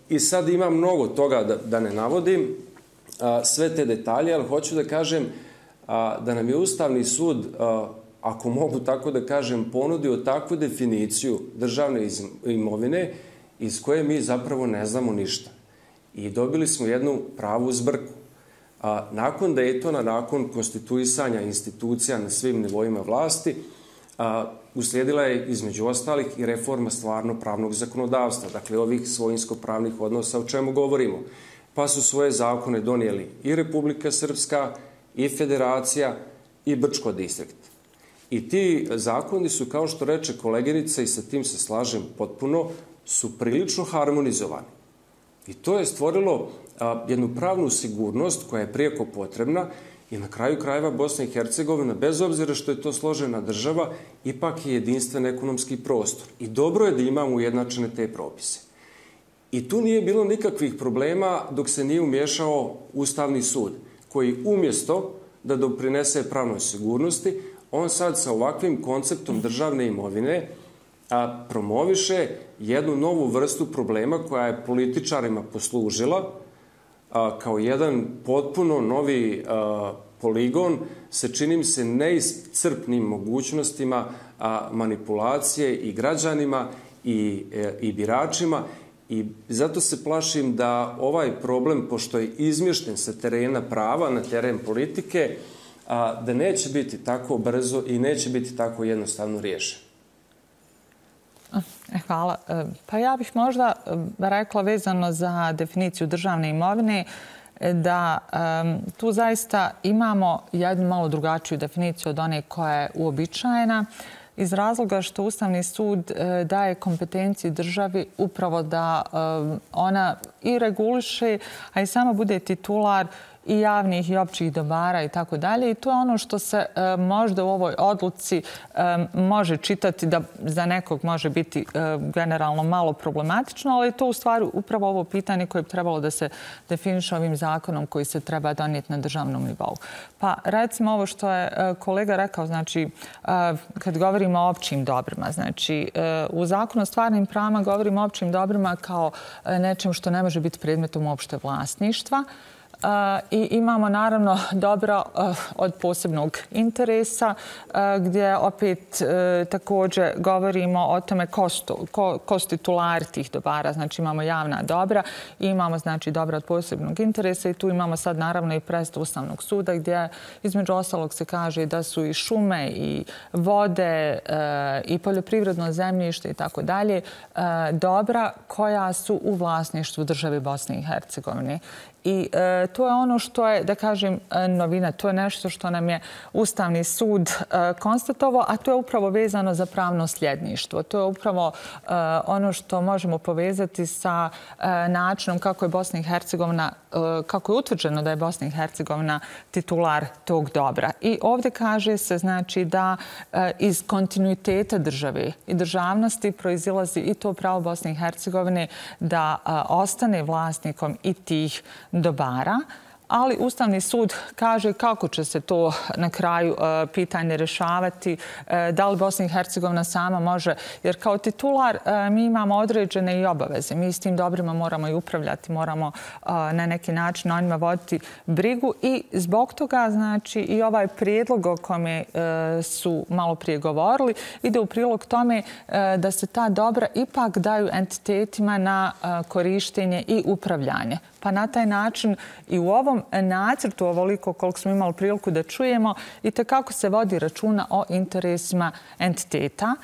I sad ima mnogo toga da ne navodim, sve te detalje, ali hoću da kažem da nam je Ustavni sud, ako mogu tako da kažem, ponudio takvu definiciju državne imovine iz koje mi zapravo ne znamo ništa. I dobili smo jednu pravu zbrku. Nakon Dejtona, nakon konstituisanja institucija na svim nivoima vlasti, uslijedila je između ostalih i reforma stvarno pravnog zakonodavstva, dakle ovih svojinsko-pravnih odnosa o čemu govorimo. Pa su svoje zakone donijeli i Republika Srpska, i Federacija, i Brčko distrikt. I ti zakoni su, kao što reče koleginica, i sa tim se slažem potpuno, su prilično harmonizovani. I to je stvorilo jednu pravnu sigurnost koja je prijeko potrebna i na kraju krajeva Bosna i Hercegovina, bez obzira što je to složena država, ipak je jedinstven ekonomski prostor. I dobro je da imamo ujednačene te propise. I tu nije bilo nikakvih problema dok se nije umješao Ustavni sud, koji umjesto da doprinese pravnoj sigurnosti, on sad sa ovakvim konceptom državne imovine promoviše jednu novu vrstu problema koja je političarima poslužila kao jedan potpuno novi poligon sa, čini mi se, neiscrpnim mogućnostima manipulacije i građanima i biračima. I zato se plašim da ovaj problem, pošto je izmješten sa terena prava na teren politike, da neće biti tako brzo i neće biti tako jednostavno riješen. Hvala. Pa ja bih možda rekla vezano za definiciju državne imovine da tu zaista imamo jednu malo drugačiju definiciju od one koja je uobičajena, iz razloga što Ustavni sud daje kompetenciji državi upravo da ona i reguliše, a i sama bude titular i javnih i općih dobara i tako dalje. I to je ono što se možda u ovoj odluci može čitati da za nekog može biti generalno malo problematično, ali je to u stvari upravo ovo pitanje koje bi trebalo da se definiše ovim zakonom koji se treba donijeti na državnom nivou. Pa recimo ovo što je kolega rekao, znači kad govorimo o općim dobrima, znači u zakonu o stvarnim pravima govorimo o općim dobrima kao nečem što ne može biti predmetom opšte vlasništva. I imamo naravno dobro od posebnog interesa gdje opet također govorimo o tome ko su titulari tih dobara. Znači imamo javna dobra i imamo znači dobra od posebnog interesa i tu imamo sad naravno i presudu Ustavnog suda gdje između ostalog se kaže da su i šume i vode i poljoprivredno zemljište i tako dalje dobra koja su u vlasništvu države Bosne i Hercegovine. I to je ono što je, da kažem, novina. To je nešto što nam je Ustavni sud konstatovao, a to je upravo vezano za pravno sljedništvo. To je upravo ono što možemo povezati sa načinom kako je Bosna i Hercegovina, kako je utvrđeno da je Bosna i Hercegovina titular tog dobra. I ovdje kaže se, znači, da iz kontinuiteta države i državnosti proizilazi i to pravo Bosne i Hercegovine da ostane vlasnikom i tih dobara. Ali Ustavni sud kaže kako će se to na kraju pitanje rješavati, da li Bosna i Hercegovina sama može, jer kao titular mi imamo određene i obaveze. Mi s tim dobrima moramo i upravljati, moramo na neki način o njima voditi brigu i zbog toga, znači, i ovaj prijedlog o kome su malo prije govorili ide u prilog tome da se ta dobra ipak daju entitetima na korištenje i upravljanje. Pa na taj način i u ovom nacrtu, ovoliko koliko smo imali priliku da čujemo, i tekako se vodi računa o interesima entiteta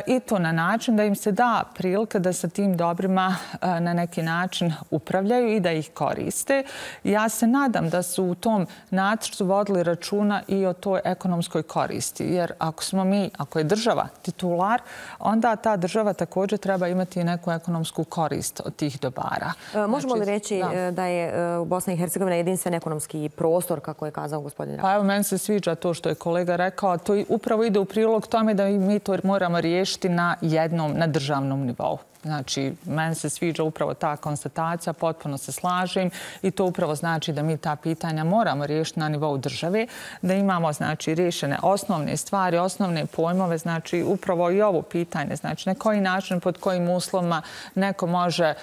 i to na način da im se da prilika da sa tim dobrima na neki način upravljaju i da ih koriste. Ja se nadam da su u tom nacrtu vodili računa i o toj ekonomskoj koristi, jer ako je država titular, onda ta država također treba imati i neku ekonomsku korist od tih dobara. Možemo li reći da je Bosna i Hercegovina jedinstven ekonomski prostor, kako je kazao gospodin Radić? Pa evo, meni se sviđa to što je kolega rekao. To upravo ide u prilog tome da mi to moramo riješiti na državnom nivou. Znači, meni se sviđa upravo ta konstatacija, potpuno se slažem i to upravo znači da mi ta pitanja moramo riješiti na nivou države, da imamo, znači, riješene osnovne stvari, osnovne pojmove, znači, upravo i ovo pitanje, znači, na koji način, pod kojim uslovima neko može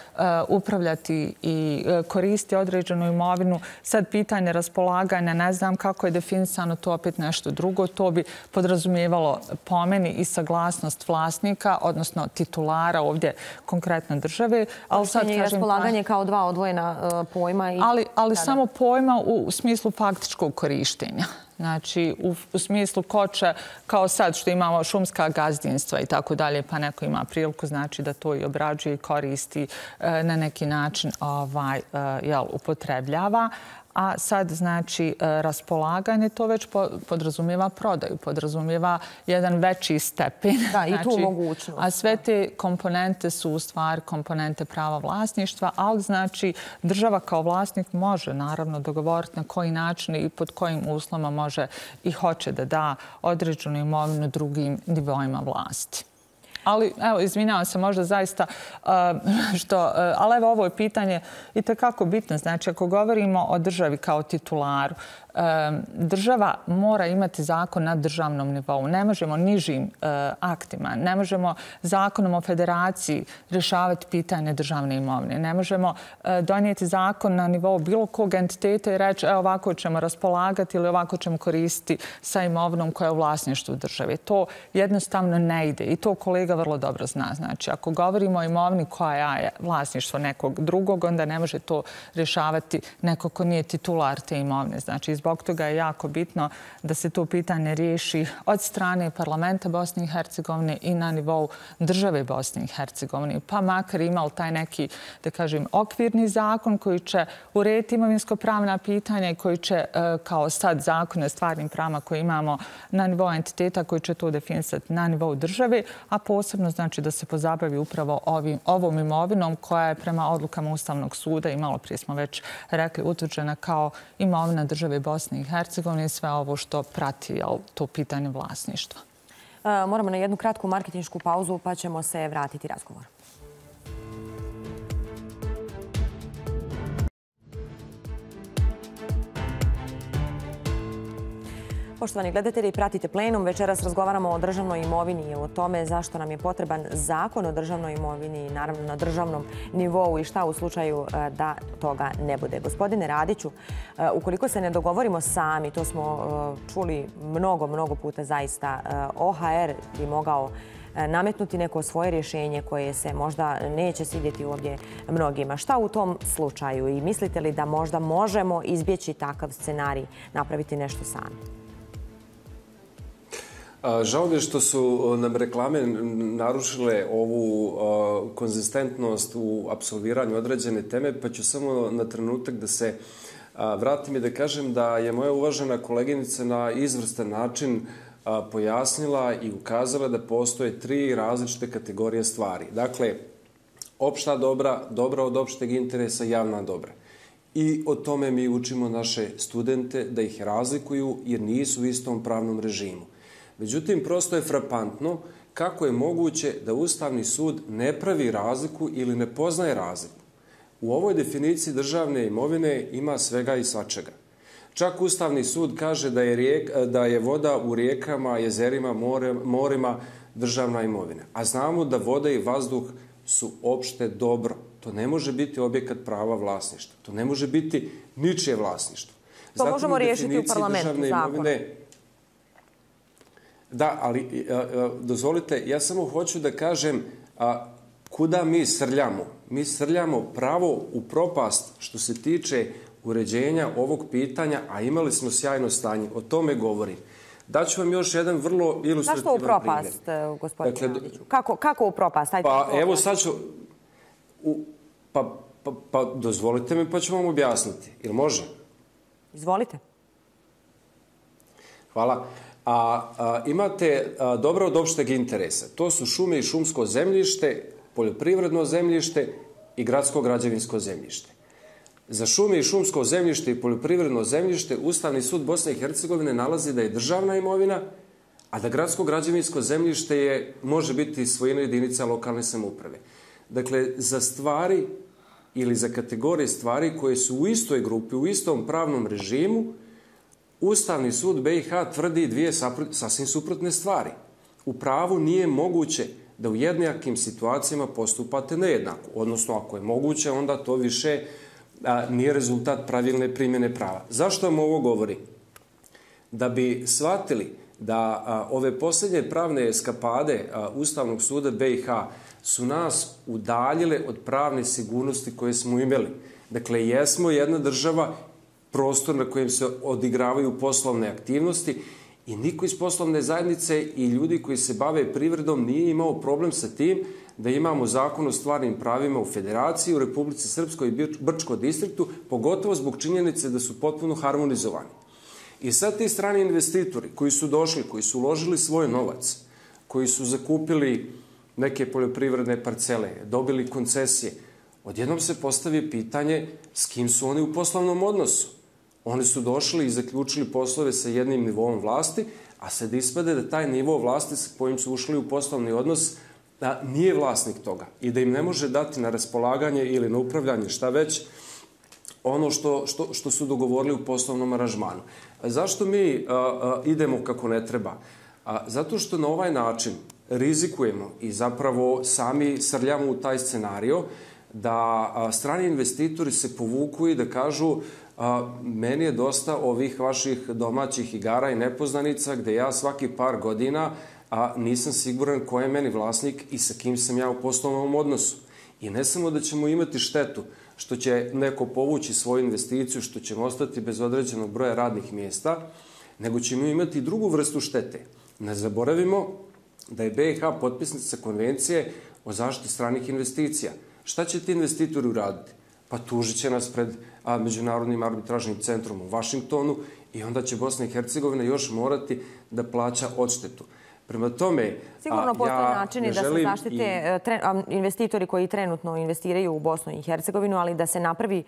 upravljati i koristiti određenu imovinu. Sad pitanje raspolaganja, ne znam kako je definisano, to opet nešto drugo, to bi podrazumijevalo po meni i saglasnost vlasnika, odnosno titulara ovdje konkretno države. Korištenje i raspolaganje kao dva odvojena pojma. Ali samo pojma u smislu faktičkog korištenja. Znači, u smislu ko će, kao sad što imamo šumska gazdinstva i tako dalje, pa neko ima priliku, znači da to i obrađuje i koristi na neki način upotrebljava. A sad, znači, raspolaganje, to već podrazumijeva prodaju, podrazumijeva jedan veći stepen. Da, i tu mogućnost. A sve te komponente su u stvari komponente prava vlasništva, ali znači država kao vlasnik može naravno dogovoriti na koji način i pod kojim uslovima može i hoće da da određenu imovinu drugim nivoima vlasti. Ali, evo, izvinjavam se, možda zaista ali evo, ovo je pitanje i tekako bitno. Znači, ako govorimo o državi kao titularu, država mora imati zakon na državnom nivou. Ne možemo nižim aktima, ne možemo zakonom o federaciji rješavati pitanje državne imovine. Ne možemo donijeti zakon na nivou bilo kog entiteta i reći ovako ćemo raspolagati ili ovako ćemo koristiti sa imovinom koja je u vlasništvu države. To jednostavno ne ide i to kolega vrlo dobro zna. Znači, ako govorimo o imovini koja je vlasništvo nekog drugog, onda ne može to rješavati neko ko nije titular te imovine. Znači, zbog toga je jako bitno da se to pitanje riješi od strane parlamenta Bosne i Hercegovine i na nivou države Bosne i Hercegovine. Pa makar imali taj neki, da kažem, okvirni zakon koji će urediti imovinsko-pravna pitanja i koji će, kao sad zakon o stvarnim pravima koje imamo na nivou entiteta, koji će to definisati na nivou države, a posebno znači da se pozabavi upravo ovom imovinom koja je prema odlukama Ustavnog suda, i malo prije smo već rekli, utvrđena kao imovina države Bosne i Hercegovine i sve ovo što prati to pitanje vlasništva. Moramo na jednu kratku marketinšku pauzu pa ćemo se vratiti razgovor. Poštovani gledatelji, pratite Plenum. Večeras razgovaramo o državnoj imovini i o tome zašto nam je potreban zakon o državnoj imovini, naravno na državnom nivou i šta u slučaju da toga ne bude. Gospodine Radiću, ukoliko se ne dogovorimo sami, to smo čuli mnogo puta zaista, OHR bi mogao nametnuti neko svoje rješenje koje se možda neće svidjeti ovdje mnogima. Šta u tom slučaju i mislite li da možda možemo izbjeći takav scenarij, napraviti nešto sami? Žao mi je što su nam reklame narušile ovu konzistentnost u apsolviranju određene teme, pa ću samo na trenutak da se vratim i da kažem da je moja uvažena koleginica na izvrstan način pojasnila i ukazala da postoje 3 različite kategorije stvari. Dakle, opšta dobra, dobra od opšteg interesa, javna dobra. I o tome mi učimo naše studente da ih razlikuju jer nisu u istom pravnom režimu. Međutim, prosto je frapantno kako je moguće da Ustavni sud ne pravi razliku ili ne poznaje razliku. U ovoj definiciji državne imovine ima svega i svačega. Čak Ustavni sud kaže da je voda u rijekama, jezerima, morima državna imovina. A znamo da voda i vazduh su opšte dobro. To ne može biti objekat prava vlasništva. To ne može biti ničije vlasništvo. To možemo riješiti u parlamentu zakona. Da, ali dozvolite, ja samo hoću da kažem kuda mi srljamo. Mi srljamo pravo u propast što se tiče uređenja ovog pitanja, a imali smo sjajno stanje. O tome govorim. Daću vam još jedan vrlo ilustrativan primjer. Zašto u propast, gospodine Radiću? Kako u propast? Pa evo sad ću... Pa dozvolite mi pa ću vam objasniti. Ili može? Izvolite. Hvala. Imate dobro od opšteg interesa. To su šume i šumsko zemljište, poljoprivredno zemljište i gradsko građevinsko zemljište. Za šume i šumsko zemljište i poljoprivredno zemljište Ustavni sud Bosne i Hercegovine nalazi da je državna imovina, a da gradsko građevinsko zemljište može biti svojina jedinica lokalne samouprave. Dakle, za stvari ili za kategorije stvari koje su u istoj grupi, u istom pravnom režimu, Ustavni sud BiH tvrdi 2 sasvim suprotne stvari. U pravu nije moguće da u jednakim situacijama postupate nejednako. Odnosno, ako je moguće, onda to više nije rezultat pravilne primjene prava. Zašto vam ovo govorim? Da bi shvatili da ove posljednje pravne eskapade Ustavnog suda BiH su nas udaljile od pravne sigurnosti koje smo imali. Dakle, jesmo jedna država, prostor na kojem se odigravaju poslovne aktivnosti i niko iz poslovne zajednice i ljudi koji se bave privredom nije imao problem sa tim da imamo zakon o stvarnim pravima u Federaciji, u Republici Srpskoj i Brčkom distriktu, pogotovo zbog činjenice da su potpuno harmonizovani. I sad ti strani investitori koji su došli, koji su uložili svoj novac, koji su zakupili neke poljoprivredne parcele, dobili koncesije, odjednom se postavi pitanje s kim su oni u poslovnom odnosu. Oni su došli i zaključili poslove sa jednim nivoom vlasti, a sad ispade da taj nivo vlasti sa kojim su ušli u poslovni odnos nije vlasnik toga i da im ne može dati na raspolaganje ili na upravljanje, šta već, ono što su dogovorili u poslovnom aranžmanu. Zašto mi idemo kako ne treba? Zato što na ovaj način rizikujemo i zapravo sami srljamo u taj scenario da strani investitori se povuku i da kažu meni je dosta ovih vaših domaćih igara i nepoznanica gde ja svaki par godina nisam siguran ko je meni vlasnik i sa kim sam ja u poslovnom odnosu. I ne samo da ćemo imati štetu što će neko povući svoju investiciju, što ćemo ostati bez određenog broja radnih mjesta, nego ćemo imati drugu vrstu štete. Ne zaboravimo da je BiH potpisnica konvencije o zaštiti stranih investicija. Šta će ti investitori uraditi? Pa tužit će nas pred Međunarodnim arbitražnim centrom u Vašingtonu i onda će Bosna i Hercegovina još morati da plaća odštetu. Prema tome, sigurno postoje načini da se zaštite investitori koji trenutno investiraju u Bosnu i Hercegovinu, ali da se napravi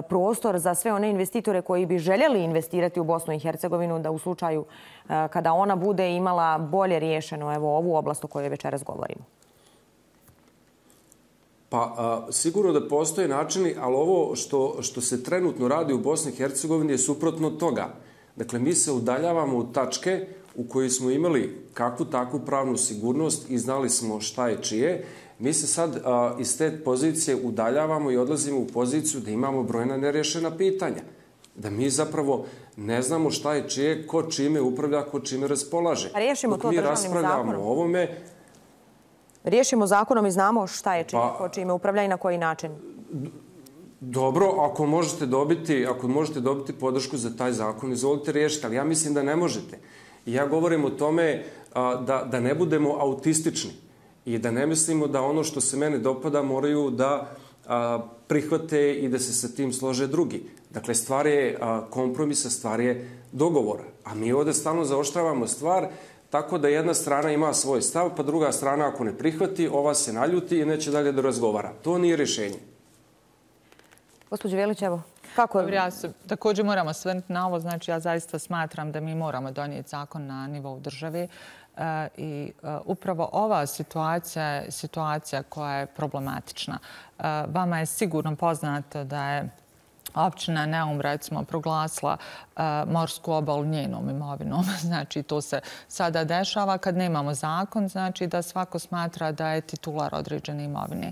prostor za sve one investitore koji bi željeli investirati u Bosnu i Hercegovinu, da u slučaju kada ona bude imala bolje riješeno ovu oblast o kojoj večeras govorimo. Pa sigurno da postoje načini, ali ovo što se trenutno radi u Bosni i Hercegovini je suprotno toga. Dakle, mi se udaljavamo u tačke u kojoj smo imali kakvu takvu pravnu sigurnost i znali smo šta je čije. Mi se sad iz te pozicije udaljavamo i odlazimo u poziciju da imamo brojna nerješena pitanja. Da mi zapravo ne znamo šta je čije, ko čime upravlja, ko čime raspolaže. Riješimo to državnim zakonom. Riješimo zakonom i znamo šta je čije, ko čime upravlja i na koji način. Dobro, ako možete dobiti podršku za taj zakon, izvolite riješiti, ali ja mislim da ne možete. I ja govorim o tome da ne budemo autistični i da ne mislimo da ono što se mene dopada moraju da prihvate i da se sa tim slože drugi. Dakle, stvar je kompromisa, stvar je dogovora. A mi ovde stalno zaoštravamo stvar tako da jedna strana ima svoj stav, pa druga strana ako ne prihvati, ova se naljuti i neće dalje da razgovara. To nije rješenje. Gospođo Velić, evo, kako je? Ja se također moram osvrnuti na ovo. Znači, ja zaista smatram da mi moramo donijeti zakon na nivou države i upravo ova situacija je situacija koja je problematična. Vama je sigurno poznato da je općina Neum, recimo, proglasila morsku obalu njenom imovinom. Znači, to se sada dešava kad nemamo zakon, znači da svako smatra da je titular određene imovine.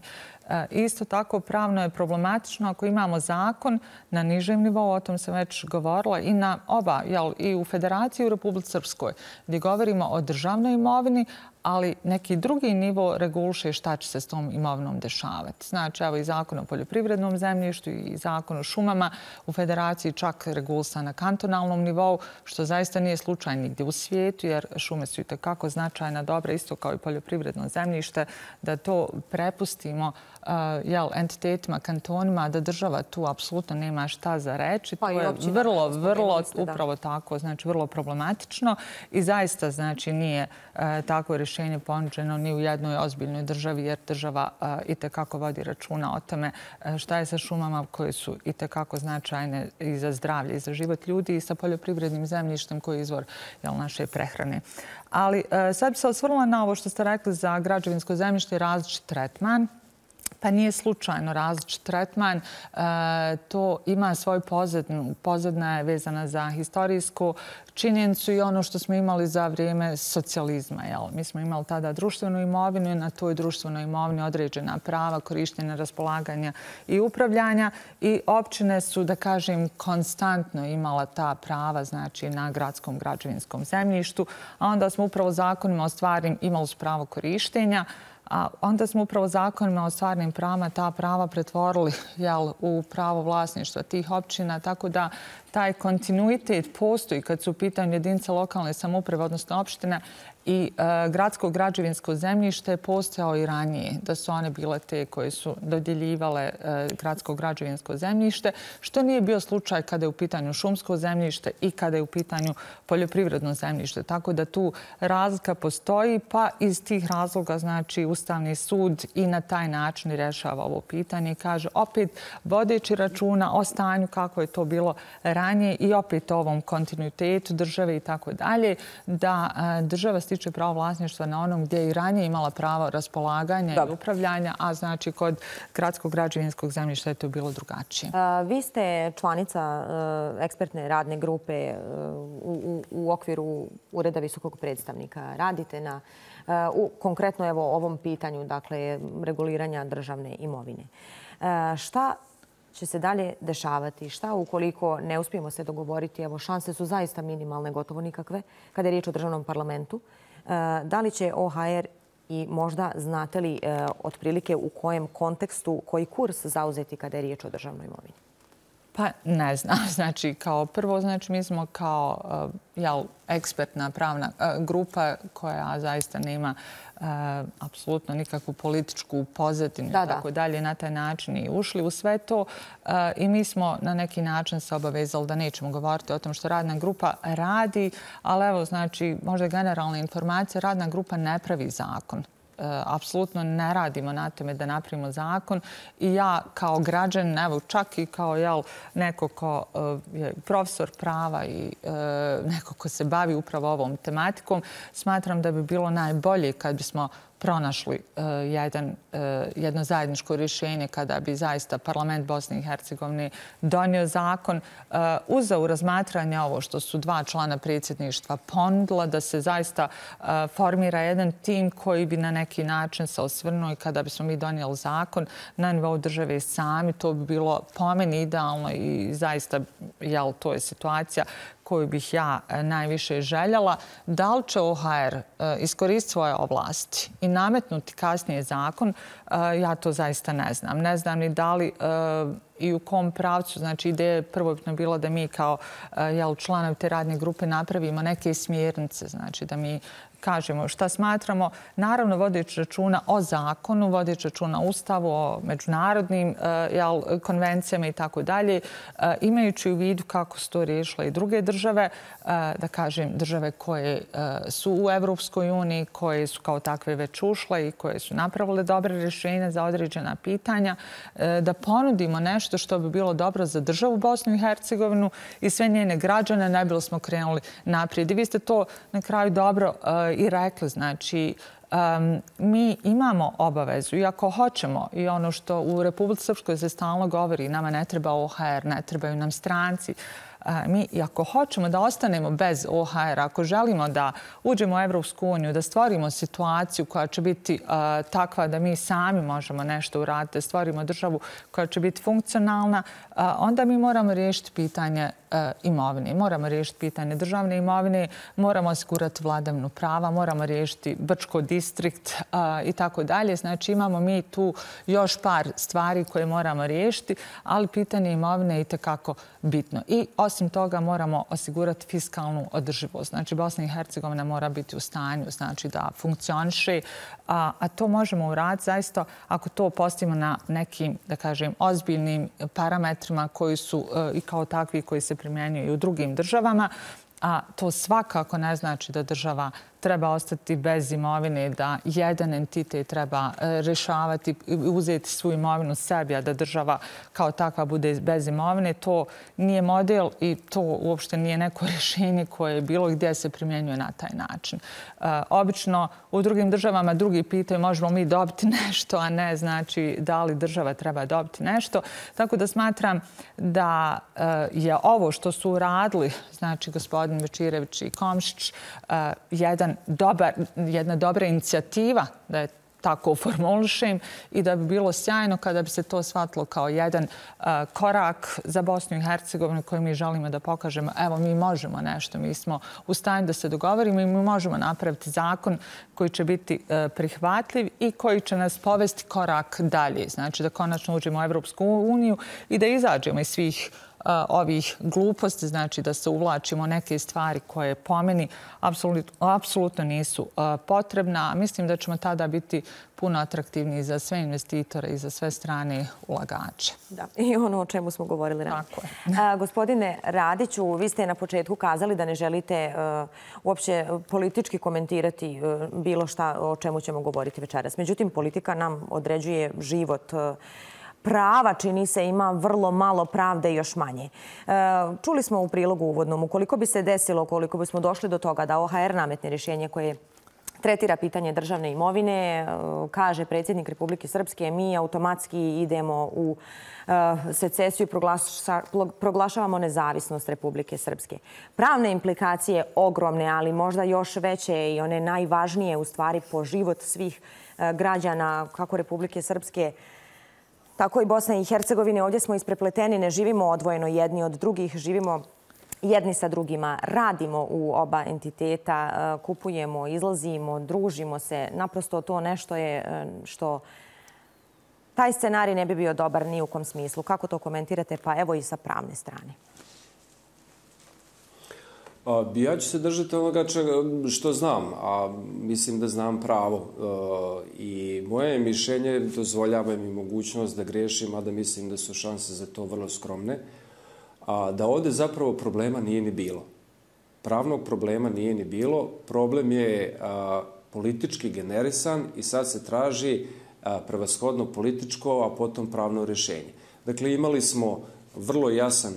Isto tako, pravno je problematično ako imamo zakon na nižem nivou, o tom sam već govorila, i na oba, i u Federaciji i u Republici Srpskoj, gdje govorimo o državnoj imovini, ali neki drugi nivo reguliše šta će se s tom imovinom dešavati. Znači, evo i zakon o poljoprivrednom zemljištu i zakon o šumama, u Federaciji čak regulisan na kantonalnom nivou, što zaista nije slučaj nigdje u svijetu, jer šume su itekako značajna dobra, isto kao i poljoprivredno zemljište, da to prepustimo entitetima, kantonima, da država tu apsolutno nema šta za reći. To je vrlo, upravo tako, znači vrlo problematično i zaista, znači, nije tako rješenje ponuđeno ni u jednoj ozbiljnoj državi, jer država itekako vodi računa o tome šta je sa šumama koje su itekako značajne i za zdravlje i za život ljudi i sa poljoprivrednim zemljištem koji je izvor naše prehrane. Ali sad bi se osvrnula na ovo što ste rekli za građevinsko zemljište i različit tretman. Pa nije slučajno različit tretman. To ima svoju pozadinu. Pozadina je vezana za historijsku činjenicu i ono što smo imali za vrijeme socijalizma. Mi smo imali tada društvenu imovinu i na toj društvenoj imovini određena prava, korištenja, raspolaganja i upravljanja. I općine su, da kažem, konstantno imala ta prava, znači, na gradskom građevinskom zemljištu. A onda smo upravo zakonima o stvarnim imali su pravo korištenja, a onda smo upravo zakonima o stvarnim pravima ta prava pretvorili u pravo vlasništva tih općina, tako da taj kontinuitet postoji kad su u pitanju jedinice lokalne samouprave, odnosno opštine, i gradsko građevinsko zemljište postojao i ranije, da su one bile te koje su dodjeljivale gradsko građevinsko zemljište, što nije bio slučaj kada je u pitanju šumsko zemljište i kada je u pitanju poljoprivredno zemljište. Tako da tu razlika postoji, pa iz tih razloga, znači, Ustavni sud i na taj način rješava ovo pitanje i kaže opet vodeći računa o stanju kako je to bilo ranije i opet ovom kontinuitetu države i tako dalje, da država stiče pravo vlasništva na onom gdje je i ranije imala pravo raspolaganja i upravljanja, a znači kod gradskog građevinskog zemljišta je to bilo drugačije. Vi ste članica ekspertne radne grupe u okviru Ureda visokog predstavnika. Radite na konkretno ovom pitanju, dakle, reguliranja državne imovine. Šta će se dalje dešavati? Šta ukoliko ne uspijemo se dogovoriti? Evo, šanse su zaista minimalne, gotovo nikakve, kada je riječ o državnom parlamentu. Da li će OHR i možda znate li otprilike u kojem kontekstu, koji kurs zauzeti kada je riječ o državnoj imovini? Pa ne znam. Znači, kao prvo, znači, mi smo kao ekspertna pravna grupa koja zaista nema apsolutno nikakvu političku pozadinu i tako dalje, na taj način i ušli u sve to. I mi smo na neki način se obavezali da nećemo govoriti o tom što radna grupa radi, ali evo, znači, možda generalna informacija, radna grupa ne pravi zakon. Apsolutno ne radimo na tome da napravimo zakon i ja kao građan, evo čak i kao neko ko je profesor prava i neko ko se bavi upravo ovom tematikom, smatram da bi bilo najbolje kad bismo pronašli jedno zajedničko rješenje kada bi zaista parlament Bosne i Hercegovine donio zakon, uzeo u razmatranje ovo što su dva člana predsjedništva ponudila, da se zaista formira jedan tim koji bi na neki način se osvrnuo i kada bismo mi donijeli zakon na nivou države sami, to bi bilo po meni idealno i zaista to je situacija koju bih ja najviše željela. Da li će OHR iskoristiti svoje oblasti i nametnuti kasnije zakon, ja to zaista ne znam. Ne znam ni da li i u kom pravcu. Znači, ideja je prvobitno bila da mi kao članovi te radne grupe napravimo neke smjernice, znači da mi kažemo šta smatramo, naravno vodeći računa o zakonu, vodeći računa o ustavu, o međunarodnim konvencijama i tako dalje, imajući u vidu kako su to riješile i druge države, da kažem države koje su u Evropskoj uniji, koje su kao takve već ušle i koje su napravile dobre rješenja za određena pitanja, da ponudimo nešto što bi bilo dobro za državu Bosnu i Hercegovinu i sve njene građane, najbolje smo krenuli naprijed. I vi ste to na kraju dobro i rekli, znači, mi imamo obavezu i ako hoćemo i ono što u Republici Srpskoj se stalno govori, nama ne treba OHR, ne trebaju nam stranci, mi i ako hoćemo da ostanemo bez OHR, ako želimo da uđemo u Evropsku uniju, da stvorimo situaciju koja će biti takva da mi sami možemo nešto uraditi, da stvorimo državu koja će biti funkcionalna, onda mi moramo riješiti pitanje imovine. Moramo riješiti pitanje državne imovine, moramo osigurati vladavinu prava, moramo riješiti Brčko distrikt i tako dalje. Znači imamo mi tu još par stvari koje moramo riješiti, ali pitanje imovine je itekako bitno. I osim toga moramo osigurati fiskalnu održivost. Znači Bosna i Hercegovina mora biti u stanju da funkcioniše, a to možemo uraditi zaista ako to postavimo na nekim, da kažem, ozbiljnim parametrima koji su i kao takvi koji se primjenjuju i u drugim državama, a to svakako ne znači da država treba ostati bez imovine, da jedan entitet treba rješavati i uzeti svu imovinu sebi, a da država kao takva bude bez imovine. To nije model i to uopšte nije neko rješenje koje bilo gdje se primjenjuje na taj način. Obično u drugim državama drugi pitaju možemo mi dobiti nešto, a ne znači da li država treba dobiti nešto. Tako da smatram da je ovo što su uradili, znači gospodin Bečirević i Komšić, jedna dobra inicijativa, da je tako formulišem, i da bi bilo sjajno kada bi se to shvatilo kao jedan korak za Bosnu i Hercegovinu koji mi želimo da pokažemo. Evo, mi možemo nešto, mi smo u stanju da se dogovorimo i mi možemo napraviti zakon koji će biti prihvatljiv i koji će nas povesti korak dalje. Znači da konačno uđemo u Evropsku uniju i da izađemo iz svih ovih gluposti, znači da se uvlačimo neke stvari koje po meni apsolutno nisu potrebna. Mislim da ćemo tada biti puno atraktivniji za sve investitore i za sve strane ulagače. Da, i ono o čemu smo govorili ranije. Tako je. Gospodine Radiću, vi ste na početku kazali da ne želite uopće politički komentirati bilo šta o čemu ćemo govoriti večeras. Međutim, politika nam određuje život. Prava, čini se, ima vrlo malo pravde i još manje. Čuli smo u prilogu uvodnom, ukoliko bi se desilo, ukoliko bismo došli do toga da OHR nametne rješenje koje tretira pitanje državne imovine, kaže predsjednik Republike Srpske, mi automatski idemo u secesiju i proglašavamo nezavisnost Republike Srpske. Pravne implikacije ogromne, ali možda još veće i one najvažnije u stvari po život svih građana kako Republike Srpske, tako i Bosne i Hercegovine. Ovdje smo isprepleteni, ne živimo odvojeno jedni od drugih, živimo jedni sa drugima, radimo u oba entiteta, kupujemo, izlazimo, družimo se. Naprosto to nešto je što taj scenarij ne bi bio dobar ni u kom smislu. Kako to komentirate? Pa evo i sa pravne strane. Ja ću se držati onoga što znam, a mislim da znam pravo. I moje mišljenje dozvoljava mi mogućnost da grešim, a da mislim da su šanse za to vrlo skromne. Da ovdje zapravo problema nije ni bilo. Pravnog problema nije ni bilo. Problem je politički generisan i sad se traži prevashodno političko, a potom pravno rješenje. Dakle, imali smo vrlo jasan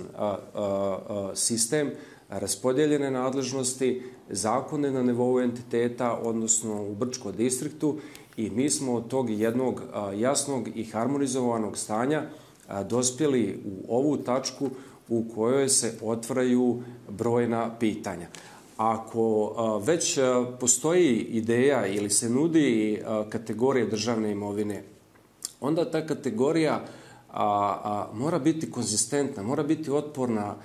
sistem, raspodjeljene nadležnosti, zakone na nivou entiteta, odnosno u Brčkom distriktu, i mi smo od tog jednog jasnog i harmonizovanog stanja dospjeli u ovu tačku u kojoj se otvaraju brojna pitanja. Ako već postoji ideja ili se nudi kategorija državne imovine, onda ta kategorija mora biti konzistentna, mora biti otporna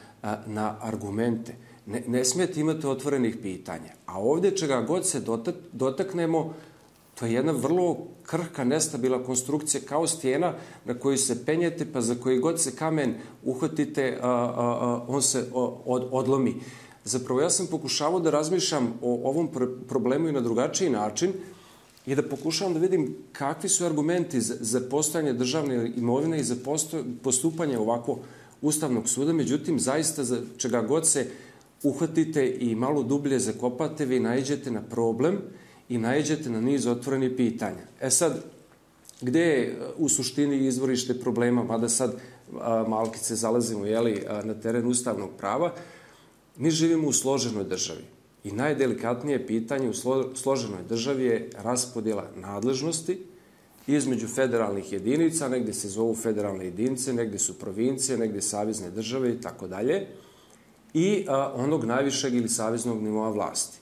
na argumente. Ne smijete imati otvorenih pitanja. A ovdje čega god se dotaknemo, To je jedna vrlo krhka, nestabilna konstrukcija kao stijena na koju se penjete, pa za koji god se kamen uhvatite, on se odlomi. Zapravo, ja sam pokušavao da razmišljam o ovom problemu i na drugačiji način i da pokušavam da vidim kakvi su argumenti za postojanje državne imovine i za postupanje ovako Ustavnog suda. Međutim, zaista za čega god se uhvatite i malo dublje zakopate, vi naiđete na problem i naiđete na niz otvorenih pitanja. Sad, gde je u suštini izvorište problema, mada sad malkice zalazimo na teren ustavnog prava, mi živimo u složenoj državi. I najdelikatnije pitanje u složenoj državi je raspodjela nadležnosti između federalnih jedinica, negde se zovu federalne jedinice, negde su provincije, negde savezne države i tako dalje, i onog najvišeg ili saveznog nivoa vlasti.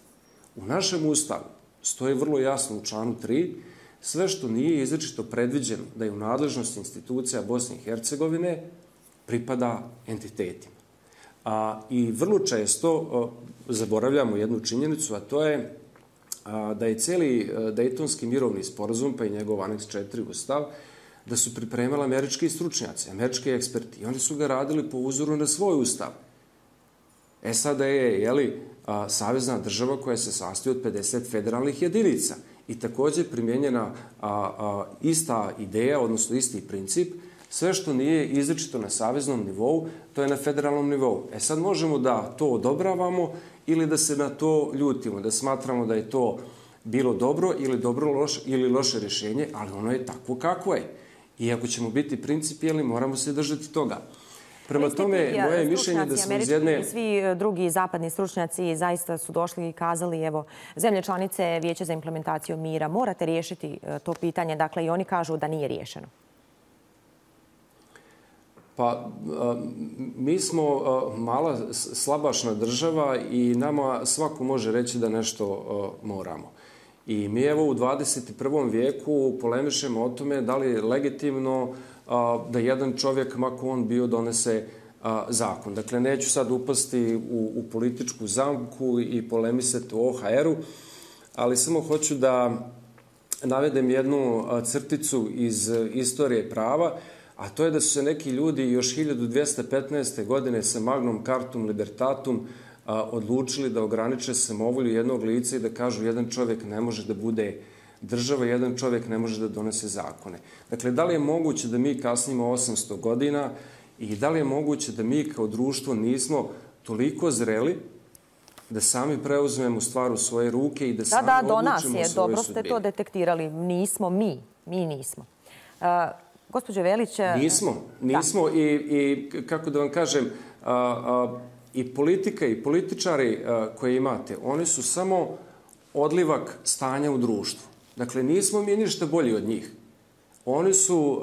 U našem ustavu stoji vrlo jasno u članu 3 sve što nije izričito predviđeno da je u nadležnosti institucija Bosne i Hercegovine pripada entitetima. I vrlo često zaboravljamo jednu činjenicu, a to je da je cijeli Dejtonski mirovni sporazum, pa i njegov aneks 4 ustav, da su pripremali američki stručnjaci, američki eksperti. I oni su ga radili po uzoru na svoj ustav. SAD je, savezna država koja se sastoji od 50 federalnih jedinica. I također primjenjena ista ideja, odnosno isti princip, sve što nije izričito na saveznom nivou, to je na federalnom nivou. Sad možemo da to odobravamo ili da se na to ljutimo, da smatramo da je to bilo dobro ili loše rješenje, ali ono je takvo kakvo je. I ako ćemo biti principijelni, moramo se držati toga. Prema tome, moje mišljenje da smo iz jedne... Svi drugi zapadni stručnjaci zaista su došli i kazali, evo, zemlje članice Vijeća za implementaciju mira, morate riješiti to pitanje, dakle i oni kažu da nije riješeno. Pa, mi smo mala slabašna država i nama svako može reći da nešto moramo. I mi evo u 21. vijeku polemišemo o tome da li je legitimno da jedan čovjek, mako on bio, donese zakon. Dakle, neću sad upasti u političku zamku i polemisati o OHR-u, ali samo hoću da navedem jednu crticu iz istorije prava, a to je da su se neki ljudi još 1215. godine sa Magnum Cartum Libertatum odlučili da ograniče samovolju jednog lica i da kažu jedan čovjek ne može da bude država, jedan čovjek ne može da donese zakone. Dakle, da li je moguće da mi kasnimo 800 godina i da li je moguće da mi kao društvo nismo toliko zreli da sami preuzmemo stvar u svoje ruke i da sami odlučimo o svojoj sudbini? Dobro ste to detektirali. Nismo mi. Mi nismo. Gospođo Velić... Nismo i kako da vam kažem, i politika i političari koje imate, oni su samo odlivak stanja u društvu. Dakle, nismo mi ništa bolji od njih. Oni su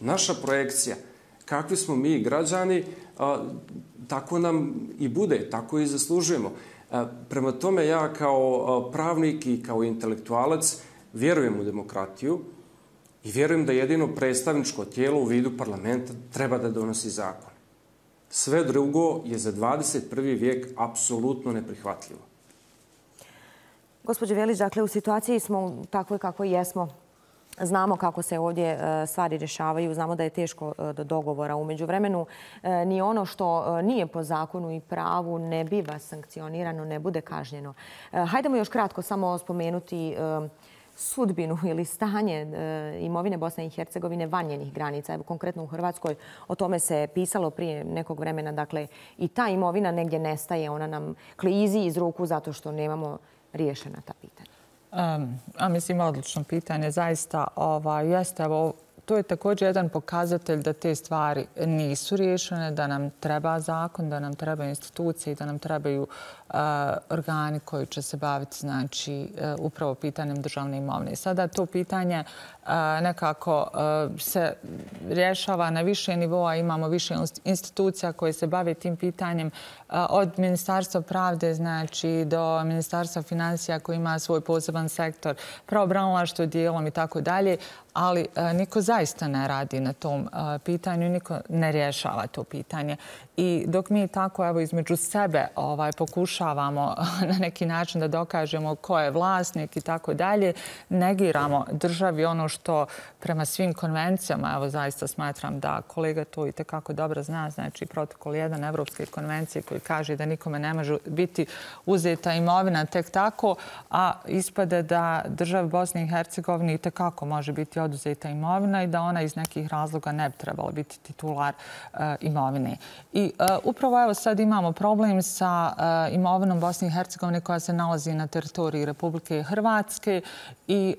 naša projekcija. Kakvi smo mi građani, tako nam i bude, tako i zaslužujemo. Prema tome, ja kao pravnik i kao intelektualac vjerujem u demokratiju i vjerujem da jedino predstavničko tijelo u vidu parlamenta treba da donosi zakon. Sve drugo je za 21. vijek apsolutno neprihvatljivo. Gospođo Velić, dakle, u situaciji smo takvoj kako jesmo. Znamo kako se ovdje stvari rješavaju, znamo da je teško do dogovora. U međuvremenu ni ono što nije po zakonu i pravu ne biva sankcionirano, ne bude kažnjeno. Hajdemo još kratko samo spomenuti sudbinu ili stanje imovine Bosne i Hercegovine van njenih granica. Evo, konkretno u Hrvatskoj o tome se pisalo prije nekog vremena. Dakle, i ta imovina negdje nestaje, ona nam klizi iz ruku zato što nemamo riješena ta pitanja. Mislim, odlično pitanje. Zaista jeste. To je također jedan pokazatelj da te stvari nisu riješene, da nam treba zakon, da nam treba institucije i da nam trebaju organi koji će se baviti upravo pitanjem državne imovine. Sada to pitanje nekako se rješava na više nivoa. Imamo više institucija koje se bave tim pitanjem od Ministarstva pravde do Ministarstva financija koji ima svoj poseban sektor, pravobranilaštvo dijelom i tako dalje. ali niko zaista ne radi na tom pitanju, niko ne rješava to pitanje. I dok mi tako evo između sebe pokušavamo na neki način da dokažemo ko je vlasnik i tako dalje, negiramo državi ono što prema svim konvencijama, evo zaista smatram da kolega to i tekako dobro zna, znači protokol 1 Evropske konvencije koji kaže da nikome ne može biti uzeta imovina tek tako, a ispade da državi Bosne i Hercegovine i tekako može biti oduzeta imovina i da ona iz nekih razloga ne bi trebala biti titular imovine. I upravo evo sad imamo problem sa imovinom Bosne i Hercegovine koja se nalazi na teritoriji Republike Hrvatske i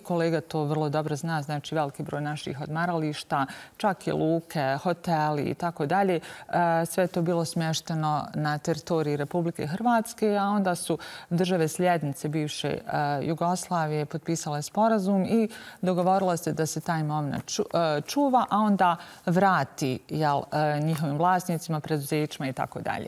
kolega to vrlo dobro zna, znači veliki broj naših odmarališta, čak i luke, hoteli i tako dalje. Sve je to bilo smješteno na teritoriji Republike Hrvatske, a onda su države sljednice bivše Jugoslavije potpisale sporazum i dogovorilo se da se ta imovina čuva, a onda vrati njihovim vlasnicima, preduzećima i tako dalje.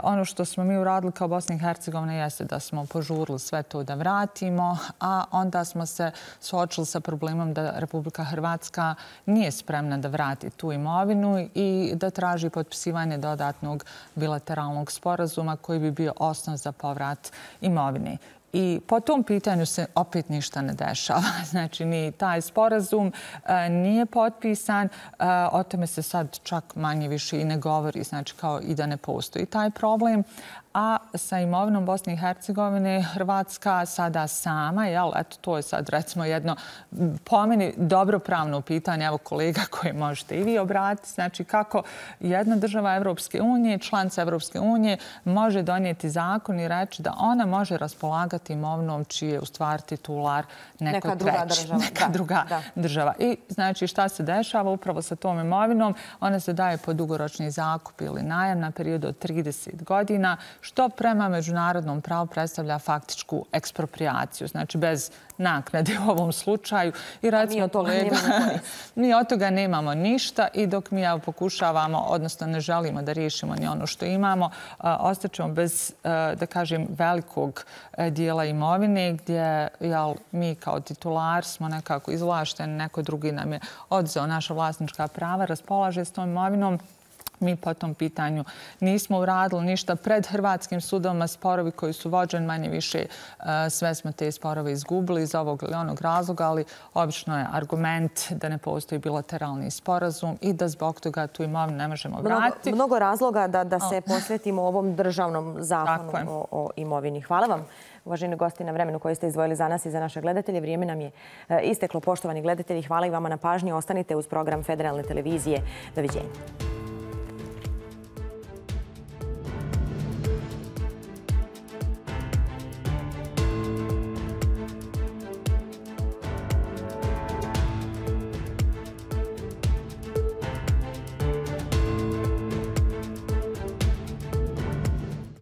Ono što smo mi uradili kao Bosna i Hercegovina jeste da smo požurili sve to da vratimo, a onda smo se suočili sa problemom da Republika Hrvatska nije spremna da vrati tu imovinu i da traži potpisivanje dodatnog bilateralnog sporazuma koji bi bio osnov za povrat imovine. I po tom pitanju se opet ništa ne dešava. Znači, ni taj sporazum nije potpisan. O tome se sad čak manje više i ne govori, znači kao i da ne postoji taj problem. A sa imovinom Bosne i Hercegovine Hrvatska sada sama, eto to je sad recimo jedno po meni dobro pravno pitanje, evo kolega koje možete i vi obratiti, znači kako jedna država Evropske unije, članica Evropske unije može donijeti zakon i reći da ona može raspolagati imovinom čiji je u stvari titular neka druga država. I znači šta se dešava upravo sa tom imovinom? Ona se daje po dugoročni zakup ili najam na period od 30 godina, što prema međunarodnom pravu predstavlja faktičku eksproprijaciju, znači bez naknade u ovom slučaju. I recimo, mi od toga nemamo ništa i dok mi pokušavamo, odnosno ne želimo da riješimo ni ono što imamo, ostaćemo bez, da kažem, velikog dijela imovine gdje mi kao titular smo nekako izvlašteni, neko drugi nam je odzeo naša vlasnička prava, raspolaže s tom imovinom. Mi po tom pitanju nismo uradili ništa pred hrvatskim sudovima, sporovi koji su vođeni manje više, sve smo te sporove izgubili iz ovog ili onog razloga, ali obično je argument da ne postoji bilateralni sporazum i da zbog toga tu imovinu ne možemo vratiti. Mnogo razloga da se posvetimo ovom državnom zakonu o imovini. Hvala vam, uvaženi gosti, na vremenu koje ste izdvojili za nas i za naše gledatelje. Vrijeme nam je isteklo, poštovani gledatelji. Hvala i vama na pažnji. Ostanite uz program Federalne televizije. Doviđenja.